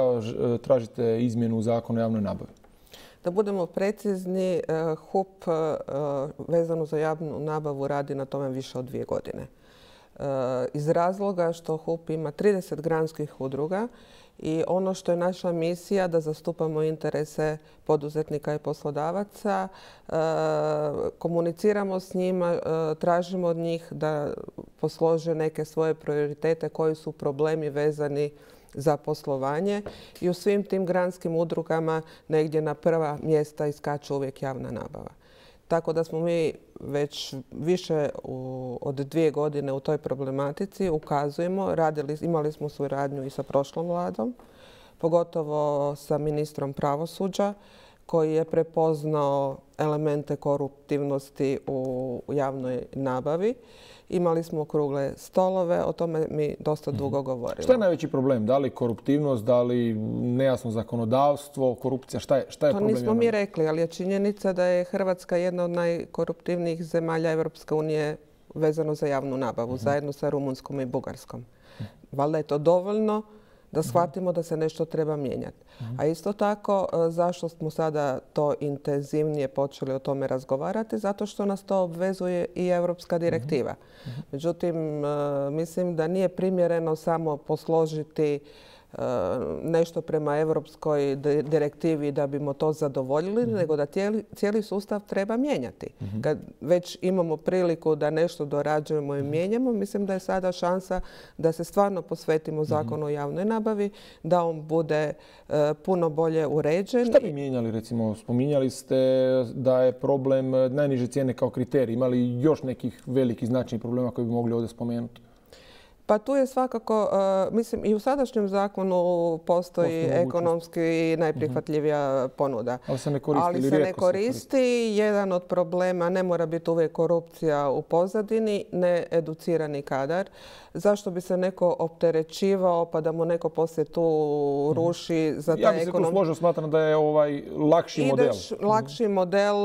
tražite izmjenu zakona o javnoj nabavi? Da budemo precizni, H U P vezano za javnu nabavu radi na tome više od dvije godine. Iz razloga što H U P ima trideset granskih udruga i ono što je naša misija da zastupamo interese poduzetnika i poslodavaca, komuniciramo s njima, tražimo od njih da poslože neke svoje prioritete koji su problemi vezani za poslovanje i u svim tim granskim udrugama negdje na prva mjesta iskače uvijek javna nabava. Tako da smo mi već više od dvije godine u toj problematici, ukazujemo, radili, imali smo suradnju i sa prošlom vladom, pogotovo sa ministrom pravosuđa koji je prepoznao elemente koruptivnosti u javnoj nabavi. Imali smo okrugle stolove, o tome mi dosta dugo govorimo. Šta je najveći problem? Da li koruptivnost, da li nejasno zakonodavstvo, korupcija? Šta je, šta je to problem? To nismo mi rekli, ali je činjenica da je Hrvatska jedna od najkoruptivnijih zemalja Europske unije vezano za javnu nabavu, uh-huh. zajedno sa Rumunjskom i Bugarskom. Uh-huh. Valjda je to dovoljno da shvatimo da se nešto treba mijenjati. Uh-huh. A isto tako, zašto smo sada to intenzivnije počeli o tome razgovarati? Zato što nas to obvezuje i Europska direktiva. Uh-huh. Međutim, mislim da nije primjereno samo posložiti nešto prema europskoj direktivi da bimo to zadovoljili, mm-hmm. nego da cijeli, cijeli sustav treba mijenjati. Mm-hmm. Kad već imamo priliku da nešto dorađujemo i mijenjamo, mislim da je sada šansa da se stvarno posvetimo zakonu o javnoj nabavi, da on bude uh, puno bolje uređen. Šta bi mijenjali, recimo, spominjali ste da je problem najniže cijene kao kriterij. Ima li još nekih velikih značajnih problema koji bi mogli ovdje spomenuti? Pa tu je svakako, uh, mislim, i u sadašnjem zakonu postoji ekonomski najprihvatljivija uh-huh. ponuda. Ali se ne koristi. Ali se ne koristi. koristi. Jedan od problema, ne mora biti uvijek korupcija u pozadini, needucirani kadar. Zašto bi se neko opterećivao pa da mu neko poslije tu ruši za taj ekonom... Ja bi se tu složio, smatram da je ovaj lakši Ideš, model. Ideš lakši uh-huh. model,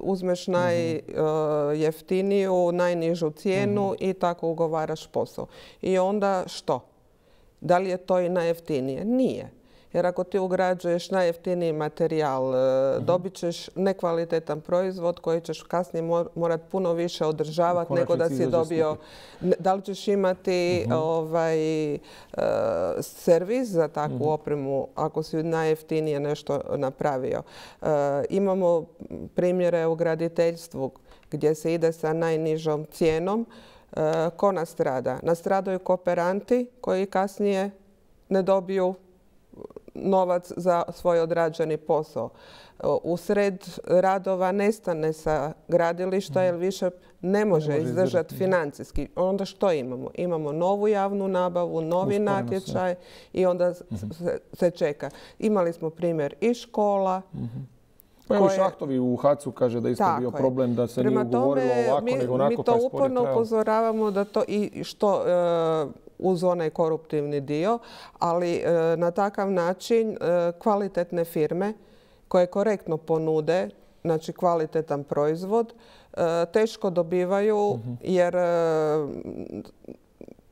uzmeš najjeftiniju, uh, najnižu cijenu uh-huh. i tako ugovaraš posao. I onda što? Da li je to i najjeftinije? Nije. Jer ako ti ugrađuješ najjeftiniji materijal, uh-huh. dobit ćeš nekvalitetan proizvod koji ćeš kasnije morati puno više održavati nego da si dobio. Da li ćeš imati uh-huh. ovaj, uh, servis za takvu uh-huh. opremu ako si najjeftinije nešto napravio? Uh, imamo primjere u graditeljstvu gdje se ide sa najnižom cijenom. Ko nastrada? Nastradaju kooperanti koji kasnije ne dobiju novac za svoj odrađeni posao. Usred radova nestane sa gradilišta jer više ne može, ne može izdržati financijski. Onda što imamo? Imamo novu javnu nabavu, novi Usporeno natječaj sve. I onda uh-huh. se, se čeka. Imali smo primjer i škola, uh-huh. Pa evo Šahtovi u Hacu kaže da isto bio je. problem da se Prema nije ugovorilo tome, ovako, mi, nego onako. Mi to uporno upozoravamo da to i što e, uz onaj koruptivni dio, ali e, na takav način e, kvalitetne firme koje korektno ponude, znači kvalitetan proizvod, e, teško dobivaju uh-huh. jer e,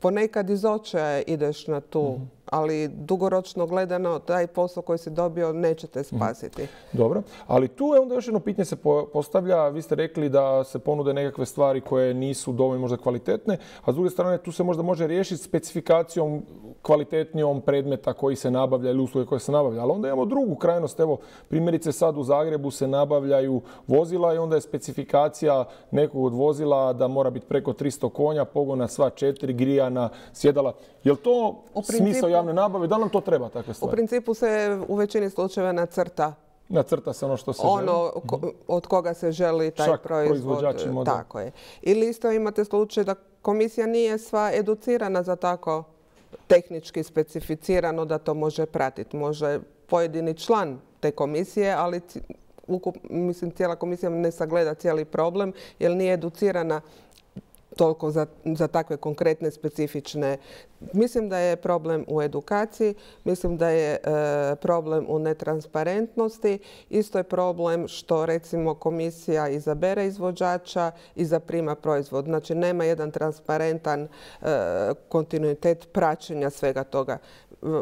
ponekad iz očaja ideš na tu, uh-huh. ali dugoročno gledano taj posao koji si dobio neće te spasiti. Uh-huh. Dobro, ali tu je onda još jedno pitanje se postavlja. Vi ste rekli da se ponude nekakve stvari koje nisu dovoljno možda kvalitetne, a s druge strane tu se možda može riješiti specifikacijom kvalitetnijom predmeta koji se nabavlja ili usluge koje se nabavlja. Ali onda imamo drugu krajnost. Evo, primjerice sad u Zagrebu se nabavljaju vozila i onda je specifikacija nekog od vozila da mora biti preko tristo konja, pogona sva četiri, grijana, sjedala. Je li to smisao javne nabave? Da li nam to treba takve stvari? U principu se u većini slučajeva nacrta. Nacrta se ono što se ono želi? Ono od koga se želi taj Šak proizvod. Model. Tako je. Ili isto imate slučaj da komisija nije sva educirana za tako tehnički specificirano da to može pratiti. Može pojedini član te komisije, ali ukup, mislim, cijela komisija ne sagleda cijeli problem jer nije educirana toliko za, za takve konkretne, specifične. Mislim da je problem u edukaciji, mislim da je e, problem u netransparentnosti. Isto je problem što recimo komisija izabere izvođača i zaprima proizvod. Znači nema jedan transparentan e, kontinuitet praćenja svega toga.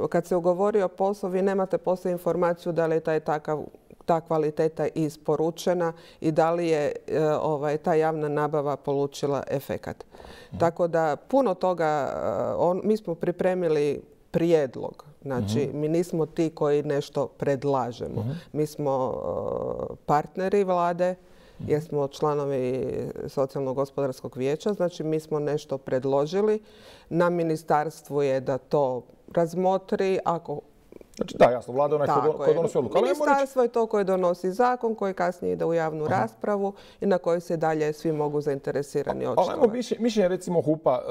Kad se ugovori o poslu, vi nemate poslije informaciju da li je taj takav ta kvaliteta isporučena i da li je e, ovaj, ta javna nabava polučila efekat. Mm. Tako da puno toga, on, mi smo pripremili prijedlog. Znači, mm-hmm. mi nismo ti koji nešto predlažemo. Mm-hmm. Mi smo uh, partneri vlade, mm-hmm. jer smo članovi Socijalno-gospodarskog vijeća. Znači, mi smo nešto predložili. Na ministarstvu je da to razmotri. Ako Znači, da, jasno, vlada je onaj koji donosi odluku. Ministarstvo je to koje donosi zakon, koji kasnije ide u javnu raspravu i na koji se dalje svi mogu zainteresirani očitovati. Ali ajmo mišljenje recimo hupa.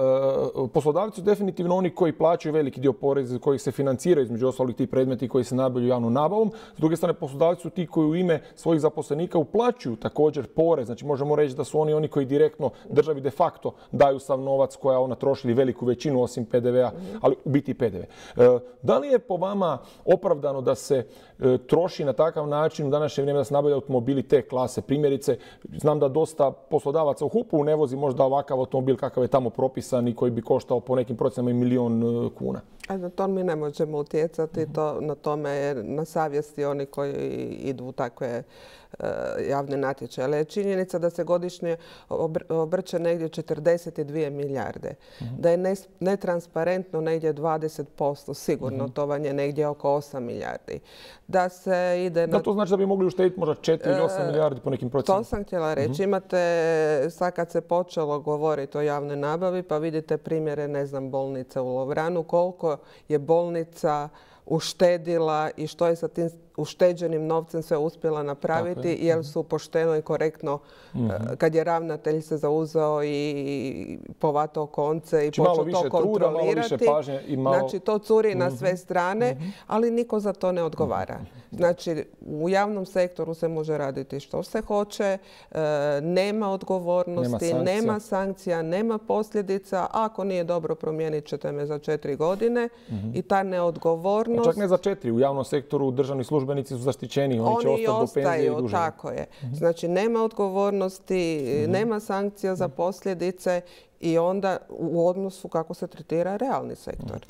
Poslodavci su definitivno oni koji plaćaju veliki dio poreza, koji se financiraju između ostalih ti predmeti koji se nabavljaju javnom nabavom. S druge strane, poslodavci su ti koji u ime svojih zaposlenika uplaćuju također porez. Znači, možemo reći da su oni oni koji direktno državi de facto daju sav novac koja ona troši ili veliku većinu osim P D V-a, ali u biti P D V. Da li je po vama opravdano da se e, troši na takav način u današnje vrijeme da se nabavljaju automobili te klase? Primjerice, znam da dosta poslodavaca u hupu ne vozi možda ovakav automobil kakav je tamo propisan i koji bi koštao po nekim procenama i milion e, kuna. A na to mi ne možemo utjecati. Mm-hmm. To, na tome je na savjesti oni koji idu u takve e, javne natječaje. Ali je činjenica da se godišnje obr obrće negdje četrdeset dvije milijarde. Mm-hmm. Da je ne, netransparentno negdje dvadeset posto sigurno. Mm-hmm. To vam je negdje oko osam milijardi. Da se ide na... Da, to znači da bi mogli uštediti možda četiri ili osam milijardi po nekim procenama. To sam htjela reći. Mm-hmm. Imate, sad kad se počelo govoriti o javnoj nabavi, pa vidite primjere, ne znam, bolnice u Lovranu, koliko je bolnica uštedila i što je sa tim ušteđenim novcem sve uspjela napraviti, jer su pošteno i korektno, mm-hmm. kad je ravnatelj se zauzeo i povatao konce i znači, počeo to kontrolirati. Truda, malo i malo... Znači, to curi mm-hmm. na sve strane, mm-hmm. ali niko za to ne odgovara. Mm-hmm. Znači, u javnom sektoru se može raditi što se hoće, e, nema odgovornosti, nema sankcija. nema sankcija, nema posljedica. Ako nije dobro, promijenit ćete me za četiri godine mm-hmm. i ta neodgovornost... A čak ne za četiri. U javnom sektoru državni službenici su zaštićeni. Oni, oni će ostati do penzije i duže. Tako je. Znači, nema odgovornosti, mm-hmm. nema sankcija za posljedice i onda u odnosu kako se tretira realni sektor.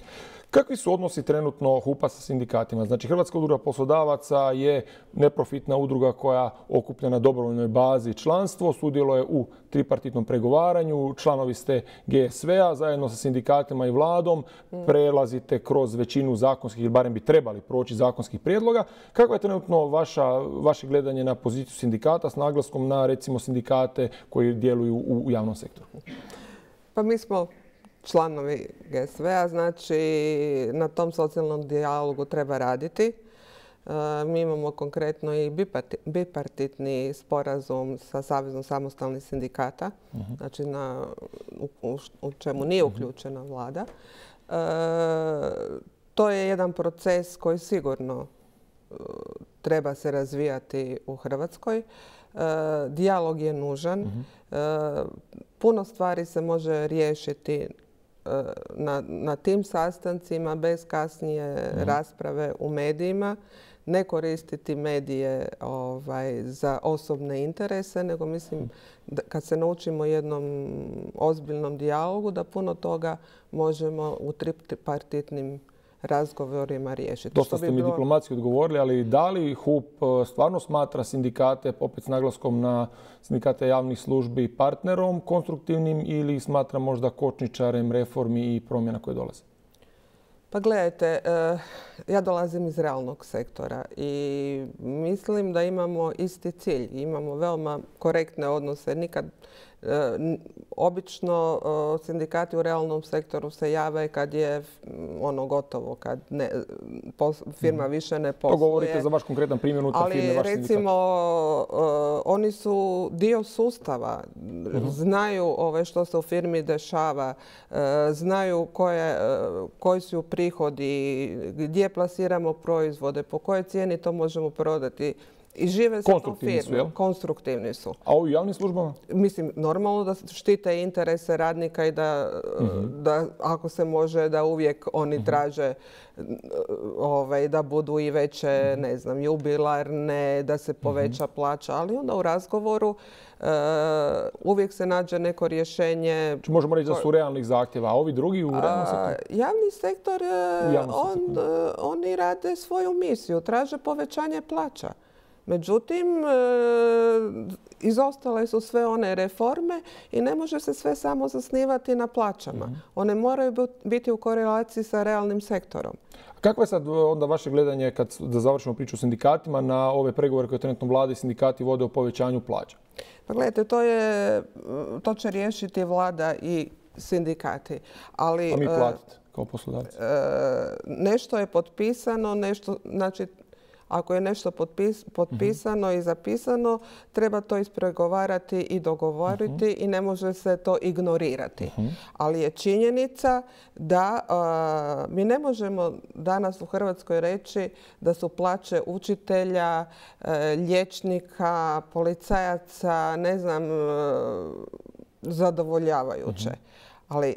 Kakvi su odnosi trenutno hupa sa sindikatima? Znači, Hrvatska udruga poslodavaca je neprofitna udruga koja okuplja na dobrovoljnoj bazi članstvo, sudjeluje u tripartitnom pregovaranju, članovi ste G S V-a, zajedno sa sindikatima i vladom, prelazite kroz većinu zakonskih, ili barem bi trebali proći zakonskih prijedloga. Kako je trenutno vaša, vaše gledanje na poziciju sindikata s naglaskom na, recimo, sindikate koji djeluju u, u javnom sektoru? Pa mi smo članovi G S V-a, znači na tom socijalnom dijalogu treba raditi. E, mi imamo konkretno i bipartitni sporazum sa Savezom samostalnih sindikata, uh-huh. znači na, u, u, u čemu nije uključena vlada. E, to je jedan proces koji sigurno e, treba se razvijati u Hrvatskoj. E, dijalog je nužan. Uh-huh. E, puno stvari se može riješiti Na, na tim sastancima bez kasnije mm. rasprave u medijima, ne koristiti medije ovaj, za osobne interese, nego mislim da kad se naučimo jednom ozbiljnom dijalogu da puno toga možemo u tripartitnim razgovorima riješiti. Dosta ste mi bilo... diplomatski odgovorili, ali da li hup stvarno smatra sindikate, opet s naglaskom na sindikate javnih službi, partnerom konstruktivnim ili smatra možda kočničarem reformi i promjena koje dolaze? Pa gledajte, ja dolazim iz realnog sektora i mislim da imamo isti cilj. Imamo veoma korektne odnose. Nikad obično sindikati u realnom sektoru se jave kad je ono gotovo, kad ne, firma više ne posluje. To govorite za vaš konkretan primjer unutar firme, vaš sindikat. Ali recimo oni su dio sustava, uh-huh. znaju ove što se u firmi dešava, znaju koje, koji su prihodi, gdje plasiramo proizvode, po kojoj cijeni to možemo prodati. I žive sa tom firmom. Konstruktivni su. A u javnim službama? Mislim, normalno da štite interese radnika i da, mm-hmm. da ako se može, da uvijek oni mm-hmm. traže ovaj, da budu i veće, mm-hmm. ne znam, jubilarne, da se poveća mm-hmm. plaća. Ali onda u razgovoru uh, uvijek se nađe neko rješenje. Či možemo reći da su realnih zahtjeva, a ovi drugi u realnom sektoru? Javni sektor, on, uh, oni rade svoju misiju, traže povećanje plaća. Međutim, izostale su sve one reforme i ne može se sve samo zasnivati na plaćama. Mm-hmm. One moraju biti u korelaciji sa realnim sektorom. Kako je sad onda vaše gledanje, kad da završimo priču o sindikatima, na ove pregovore koje trenutno vlada i sindikati vode o povećanju plaća? Pa gledajte, to, je, to će riješiti vlada i sindikati. Ali, a mi platiti kao poslodavci? Nešto je potpisano, nešto, znači ako je nešto potpis, potpisano uh-huh. i zapisano, treba to ispregovarati i dogovoriti uh-huh. i ne može se to ignorirati. Uh-huh. Ali je činjenica da uh, mi ne možemo danas u Hrvatskoj reći da su plaće učitelja, uh, liječnika, policajaca, ne znam, uh, zadovoljavajuće. Uh-huh. Ali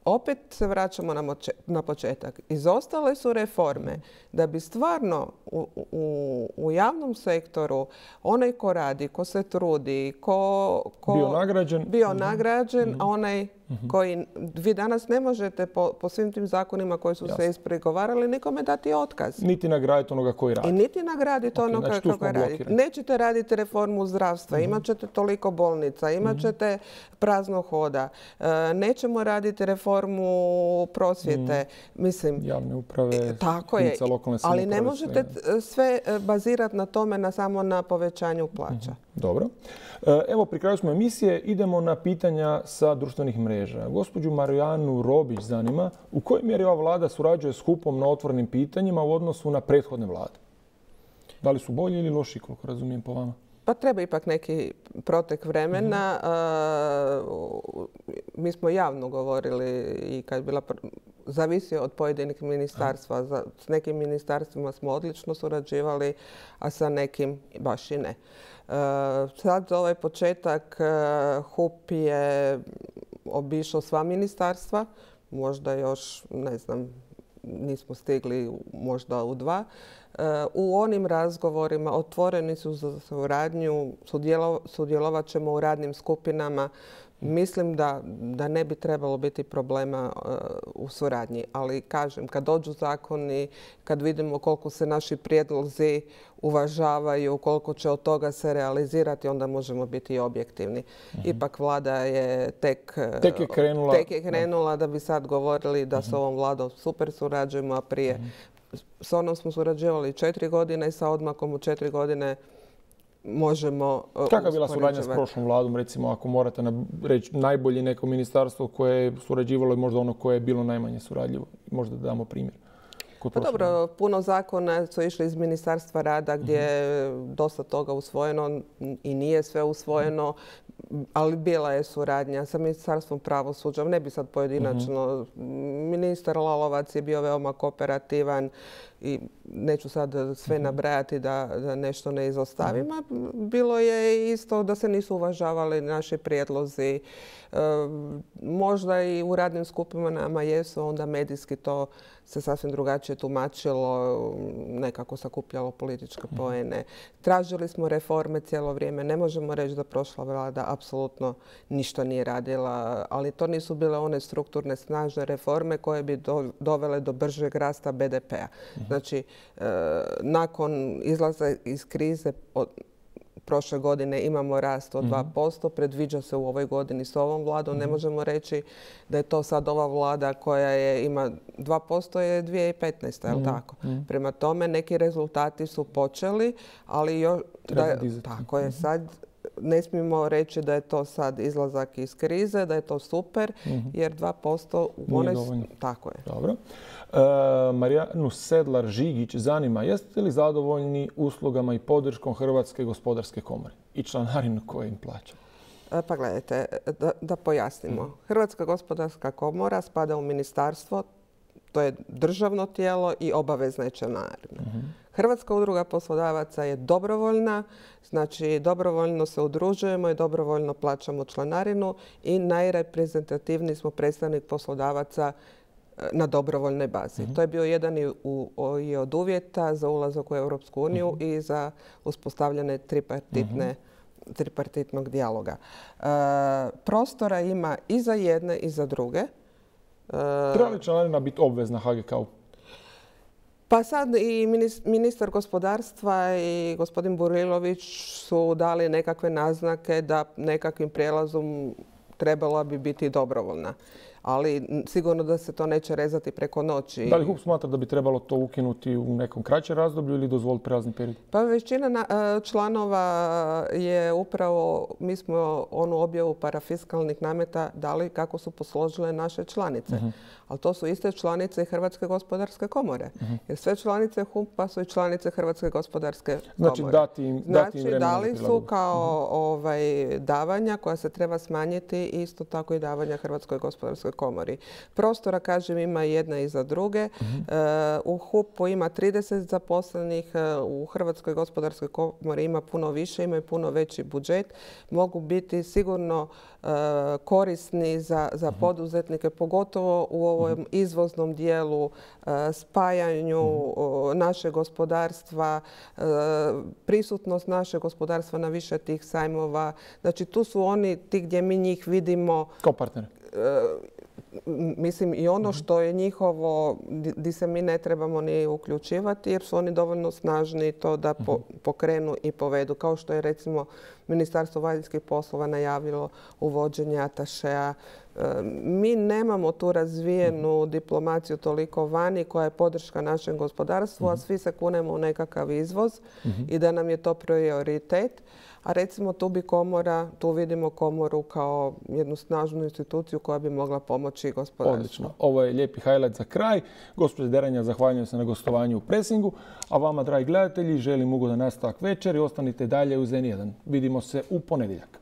opet se vraćamo na, moče, na početak. Izostale su reforme da bi stvarno u, u, u javnom sektoru onaj ko radi, ko se trudi, ko, ko bio nagrađen, bio mm-hmm. nagrađen mm-hmm. a onaj mm-hmm. koji vi danas ne možete po, po svim tim zakonima koji su Jasne. se ispregovarali nikome dati otkaz. Niti nagraditi onoga koji radi. I niti nagraditi okay, onoga znači, koji radi. Nećete raditi reformu zdravstva, mm-hmm. imat ćete toliko bolnica, imat ćete mm-hmm. prazno hoda. E, nećemo raditi reformu prosvjete. Mm-hmm. Mislim, javne uprave, tako je, ali ne možete sve bazirati na tome na samo na povećanju plaća. Mm-hmm. Dobro. Evo, pri kraju smo emisije. Idemo na pitanja sa društvenih mreža. Gospođu Marijanu Robić zanima u kojoj mjeri ova vlada surađuje s H U P-om na otvorenim pitanjima u odnosu na prethodne vlade. Da li su bolji ili loši, koliko razumijem po vama? Pa treba ipak neki protek vremena. Mm-hmm. Mi smo javno govorili i kad je bila zavisi od pojedinih ministarstva. Za, s nekim ministarstvima smo odlično surađivali, a sa nekim baš i ne. Uh, sad za ovaj početak uh, H U P je obišao sva ministarstva, možda još, ne znam, nismo stigli možda u dva. Uh, u onim razgovorima otvoreni su za suradnju, sudjelo, sudjelovat ćemo u radnim skupinama. Mislim da, da ne bi trebalo biti problema uh, u suradnji. Ali kažem, kad dođu zakoni, kad vidimo koliko se naši prijedlozi uvažavaju, koliko će od toga se realizirati, onda možemo biti i objektivni. Uh-huh. Ipak vlada je tek, tek je krenula, tek je krenula da bi sad govorili da uh-huh. s ovom vladom super surađujemo, a prije uh-huh. s onom smo surađivali četiri godine i sa odmakom u četiri godine možemo Kakva je bila suradnja s prošlom vladom, recimo, ako morate reći najbolje neko ministarstvo koje je surađivalo i možda ono koje je bilo najmanje surađivo? Možda da damo primjer. Pa dobro, puno zakona su išli iz Ministarstva rada gdje je uh-huh. dosta toga usvojeno i nije sve usvojeno, ali bila je suradnja sa Ministarstvom pravosuđa. Ne bi sad pojedinačno. Uh-huh. Ministar Lalovac je bio veoma kooperativan i neću sad sve nabrajati da, da nešto ne izostavim. Uh-huh. Bilo je isto da se nisu uvažavali naši prijedlozi. E, možda i u radnim skupinama jesu, onda medijski to se sasvim drugačije tumačilo, nekako sakupljalo političke poene. Tražili smo reforme cijelo vrijeme. Ne možemo reći da prošla vlada apsolutno ništa nije radila, ali to nisu bile one strukturne snažne reforme koje bi do, dovele do bržeg rasta be de pea. Znači, e, nakon izlaza iz krize od, prošle godine imamo rast od dva posto, predviđa se u ovoj godini s ovom vladom. Ne možemo reći da je to sad ova vlada koja je, ima dva posto je dvije tisuće petnaeste. Je li tako? Prema tome neki rezultati su počeli, ali još, da, tako je sad. Ne smijemo reći da je to sad izlazak iz krize, da je to super, jer dva posto u onoj... Tako je. Dobro. E, Marijanu Sedlar-Žigić zanima, jeste li zadovoljni uslugama i podrškom Hrvatske gospodarske komore i članarinu koje im plaća? E, pa gledajte, da, da pojasnimo. Hrvatska gospodarska komora spada u ministarstvo, to je državno tijelo i obavezna je članarina. Uh-huh. Hrvatska udruga poslodavaca je dobrovoljna, znači dobrovoljno se udružujemo i dobrovoljno plaćamo članarinu i najreprezentativniji smo predstavnik poslodavaca na dobrovoljnoj bazi. Uh-huh. To je bio jedan i, u, i od uvjeta za ulazak u Europsku uniju uh-huh. i za uspostavljanje tripartitne uh-huh. tripartitnog dijaloga. E, prostora ima i za jedne i za druge. Treba li članarina biti obvezna ha ge ka-u? Pa sad i ministar gospodarstva i gospodin Burilović su dali nekakve naznake da nekakvim prijelazom trebala bi biti dobrovoljna. Ali sigurno da se to neće rezati preko noći. Da li H U P smatra da bi trebalo to ukinuti u nekom kraćem razdoblju ili dozvoliti prelazni period? Pa većina članova je upravo, mi smo onu objavu parafiskalnih nameta dali kako su posložile naše članice. Uh-huh. Ali to su iste članice i Hrvatske gospodarske komore. Uh-huh. Jer sve članice H U P-a su i članice Hrvatske gospodarske komore. Znači dati im, dati im znači, dali su kao uh-huh. ovaj, davanja koja se treba smanjiti, isto tako i davanja Hrvatskoj gospodarskoj komori. Prostora, kažem, ima jedna iza druge. Uh-huh. U H U P-u ima trideset zaposlenih, u Hrvatskoj gospodarskoj komori ima puno više, imaju puno veći budžet. Mogu biti sigurno uh, korisni za, za uh-huh. poduzetnike, pogotovo u ovom uh-huh. izvoznom dijelu, uh, spajanju uh-huh. našeg gospodarstva, uh, prisutnost našeg gospodarstva na više tih sajmova. Znači, tu su oni ti gdje mi njih vidimo kao partneri. Uh, Mislim, i ono što je njihovo, di se mi ne trebamo ni uključivati, jer su oni dovoljno snažni to da po, pokrenu i povedu. Kao što je, recimo, Ministarstvo vanjskih poslova najavilo uvođenje atašea. Mi nemamo tu razvijenu diplomaciju toliko vani koja je podrška našem gospodarstvu, a svi se kunemo u nekakav izvoz i da nam je to prioritet. A recimo tu bi komora, tu vidimo komoru kao jednu snažnu instituciju koja bi mogla pomoći gospodarstvu. Odlično. Ovo je lijepi highlight za kraj. Gospođa Deranja, zahvaljujem se na gostovanju u Presingu. A vama, dragi gledatelji, želim ugodan nastavak večeri. Ostanite dalje uz N jedan. Vidimo se u ponedjeljak.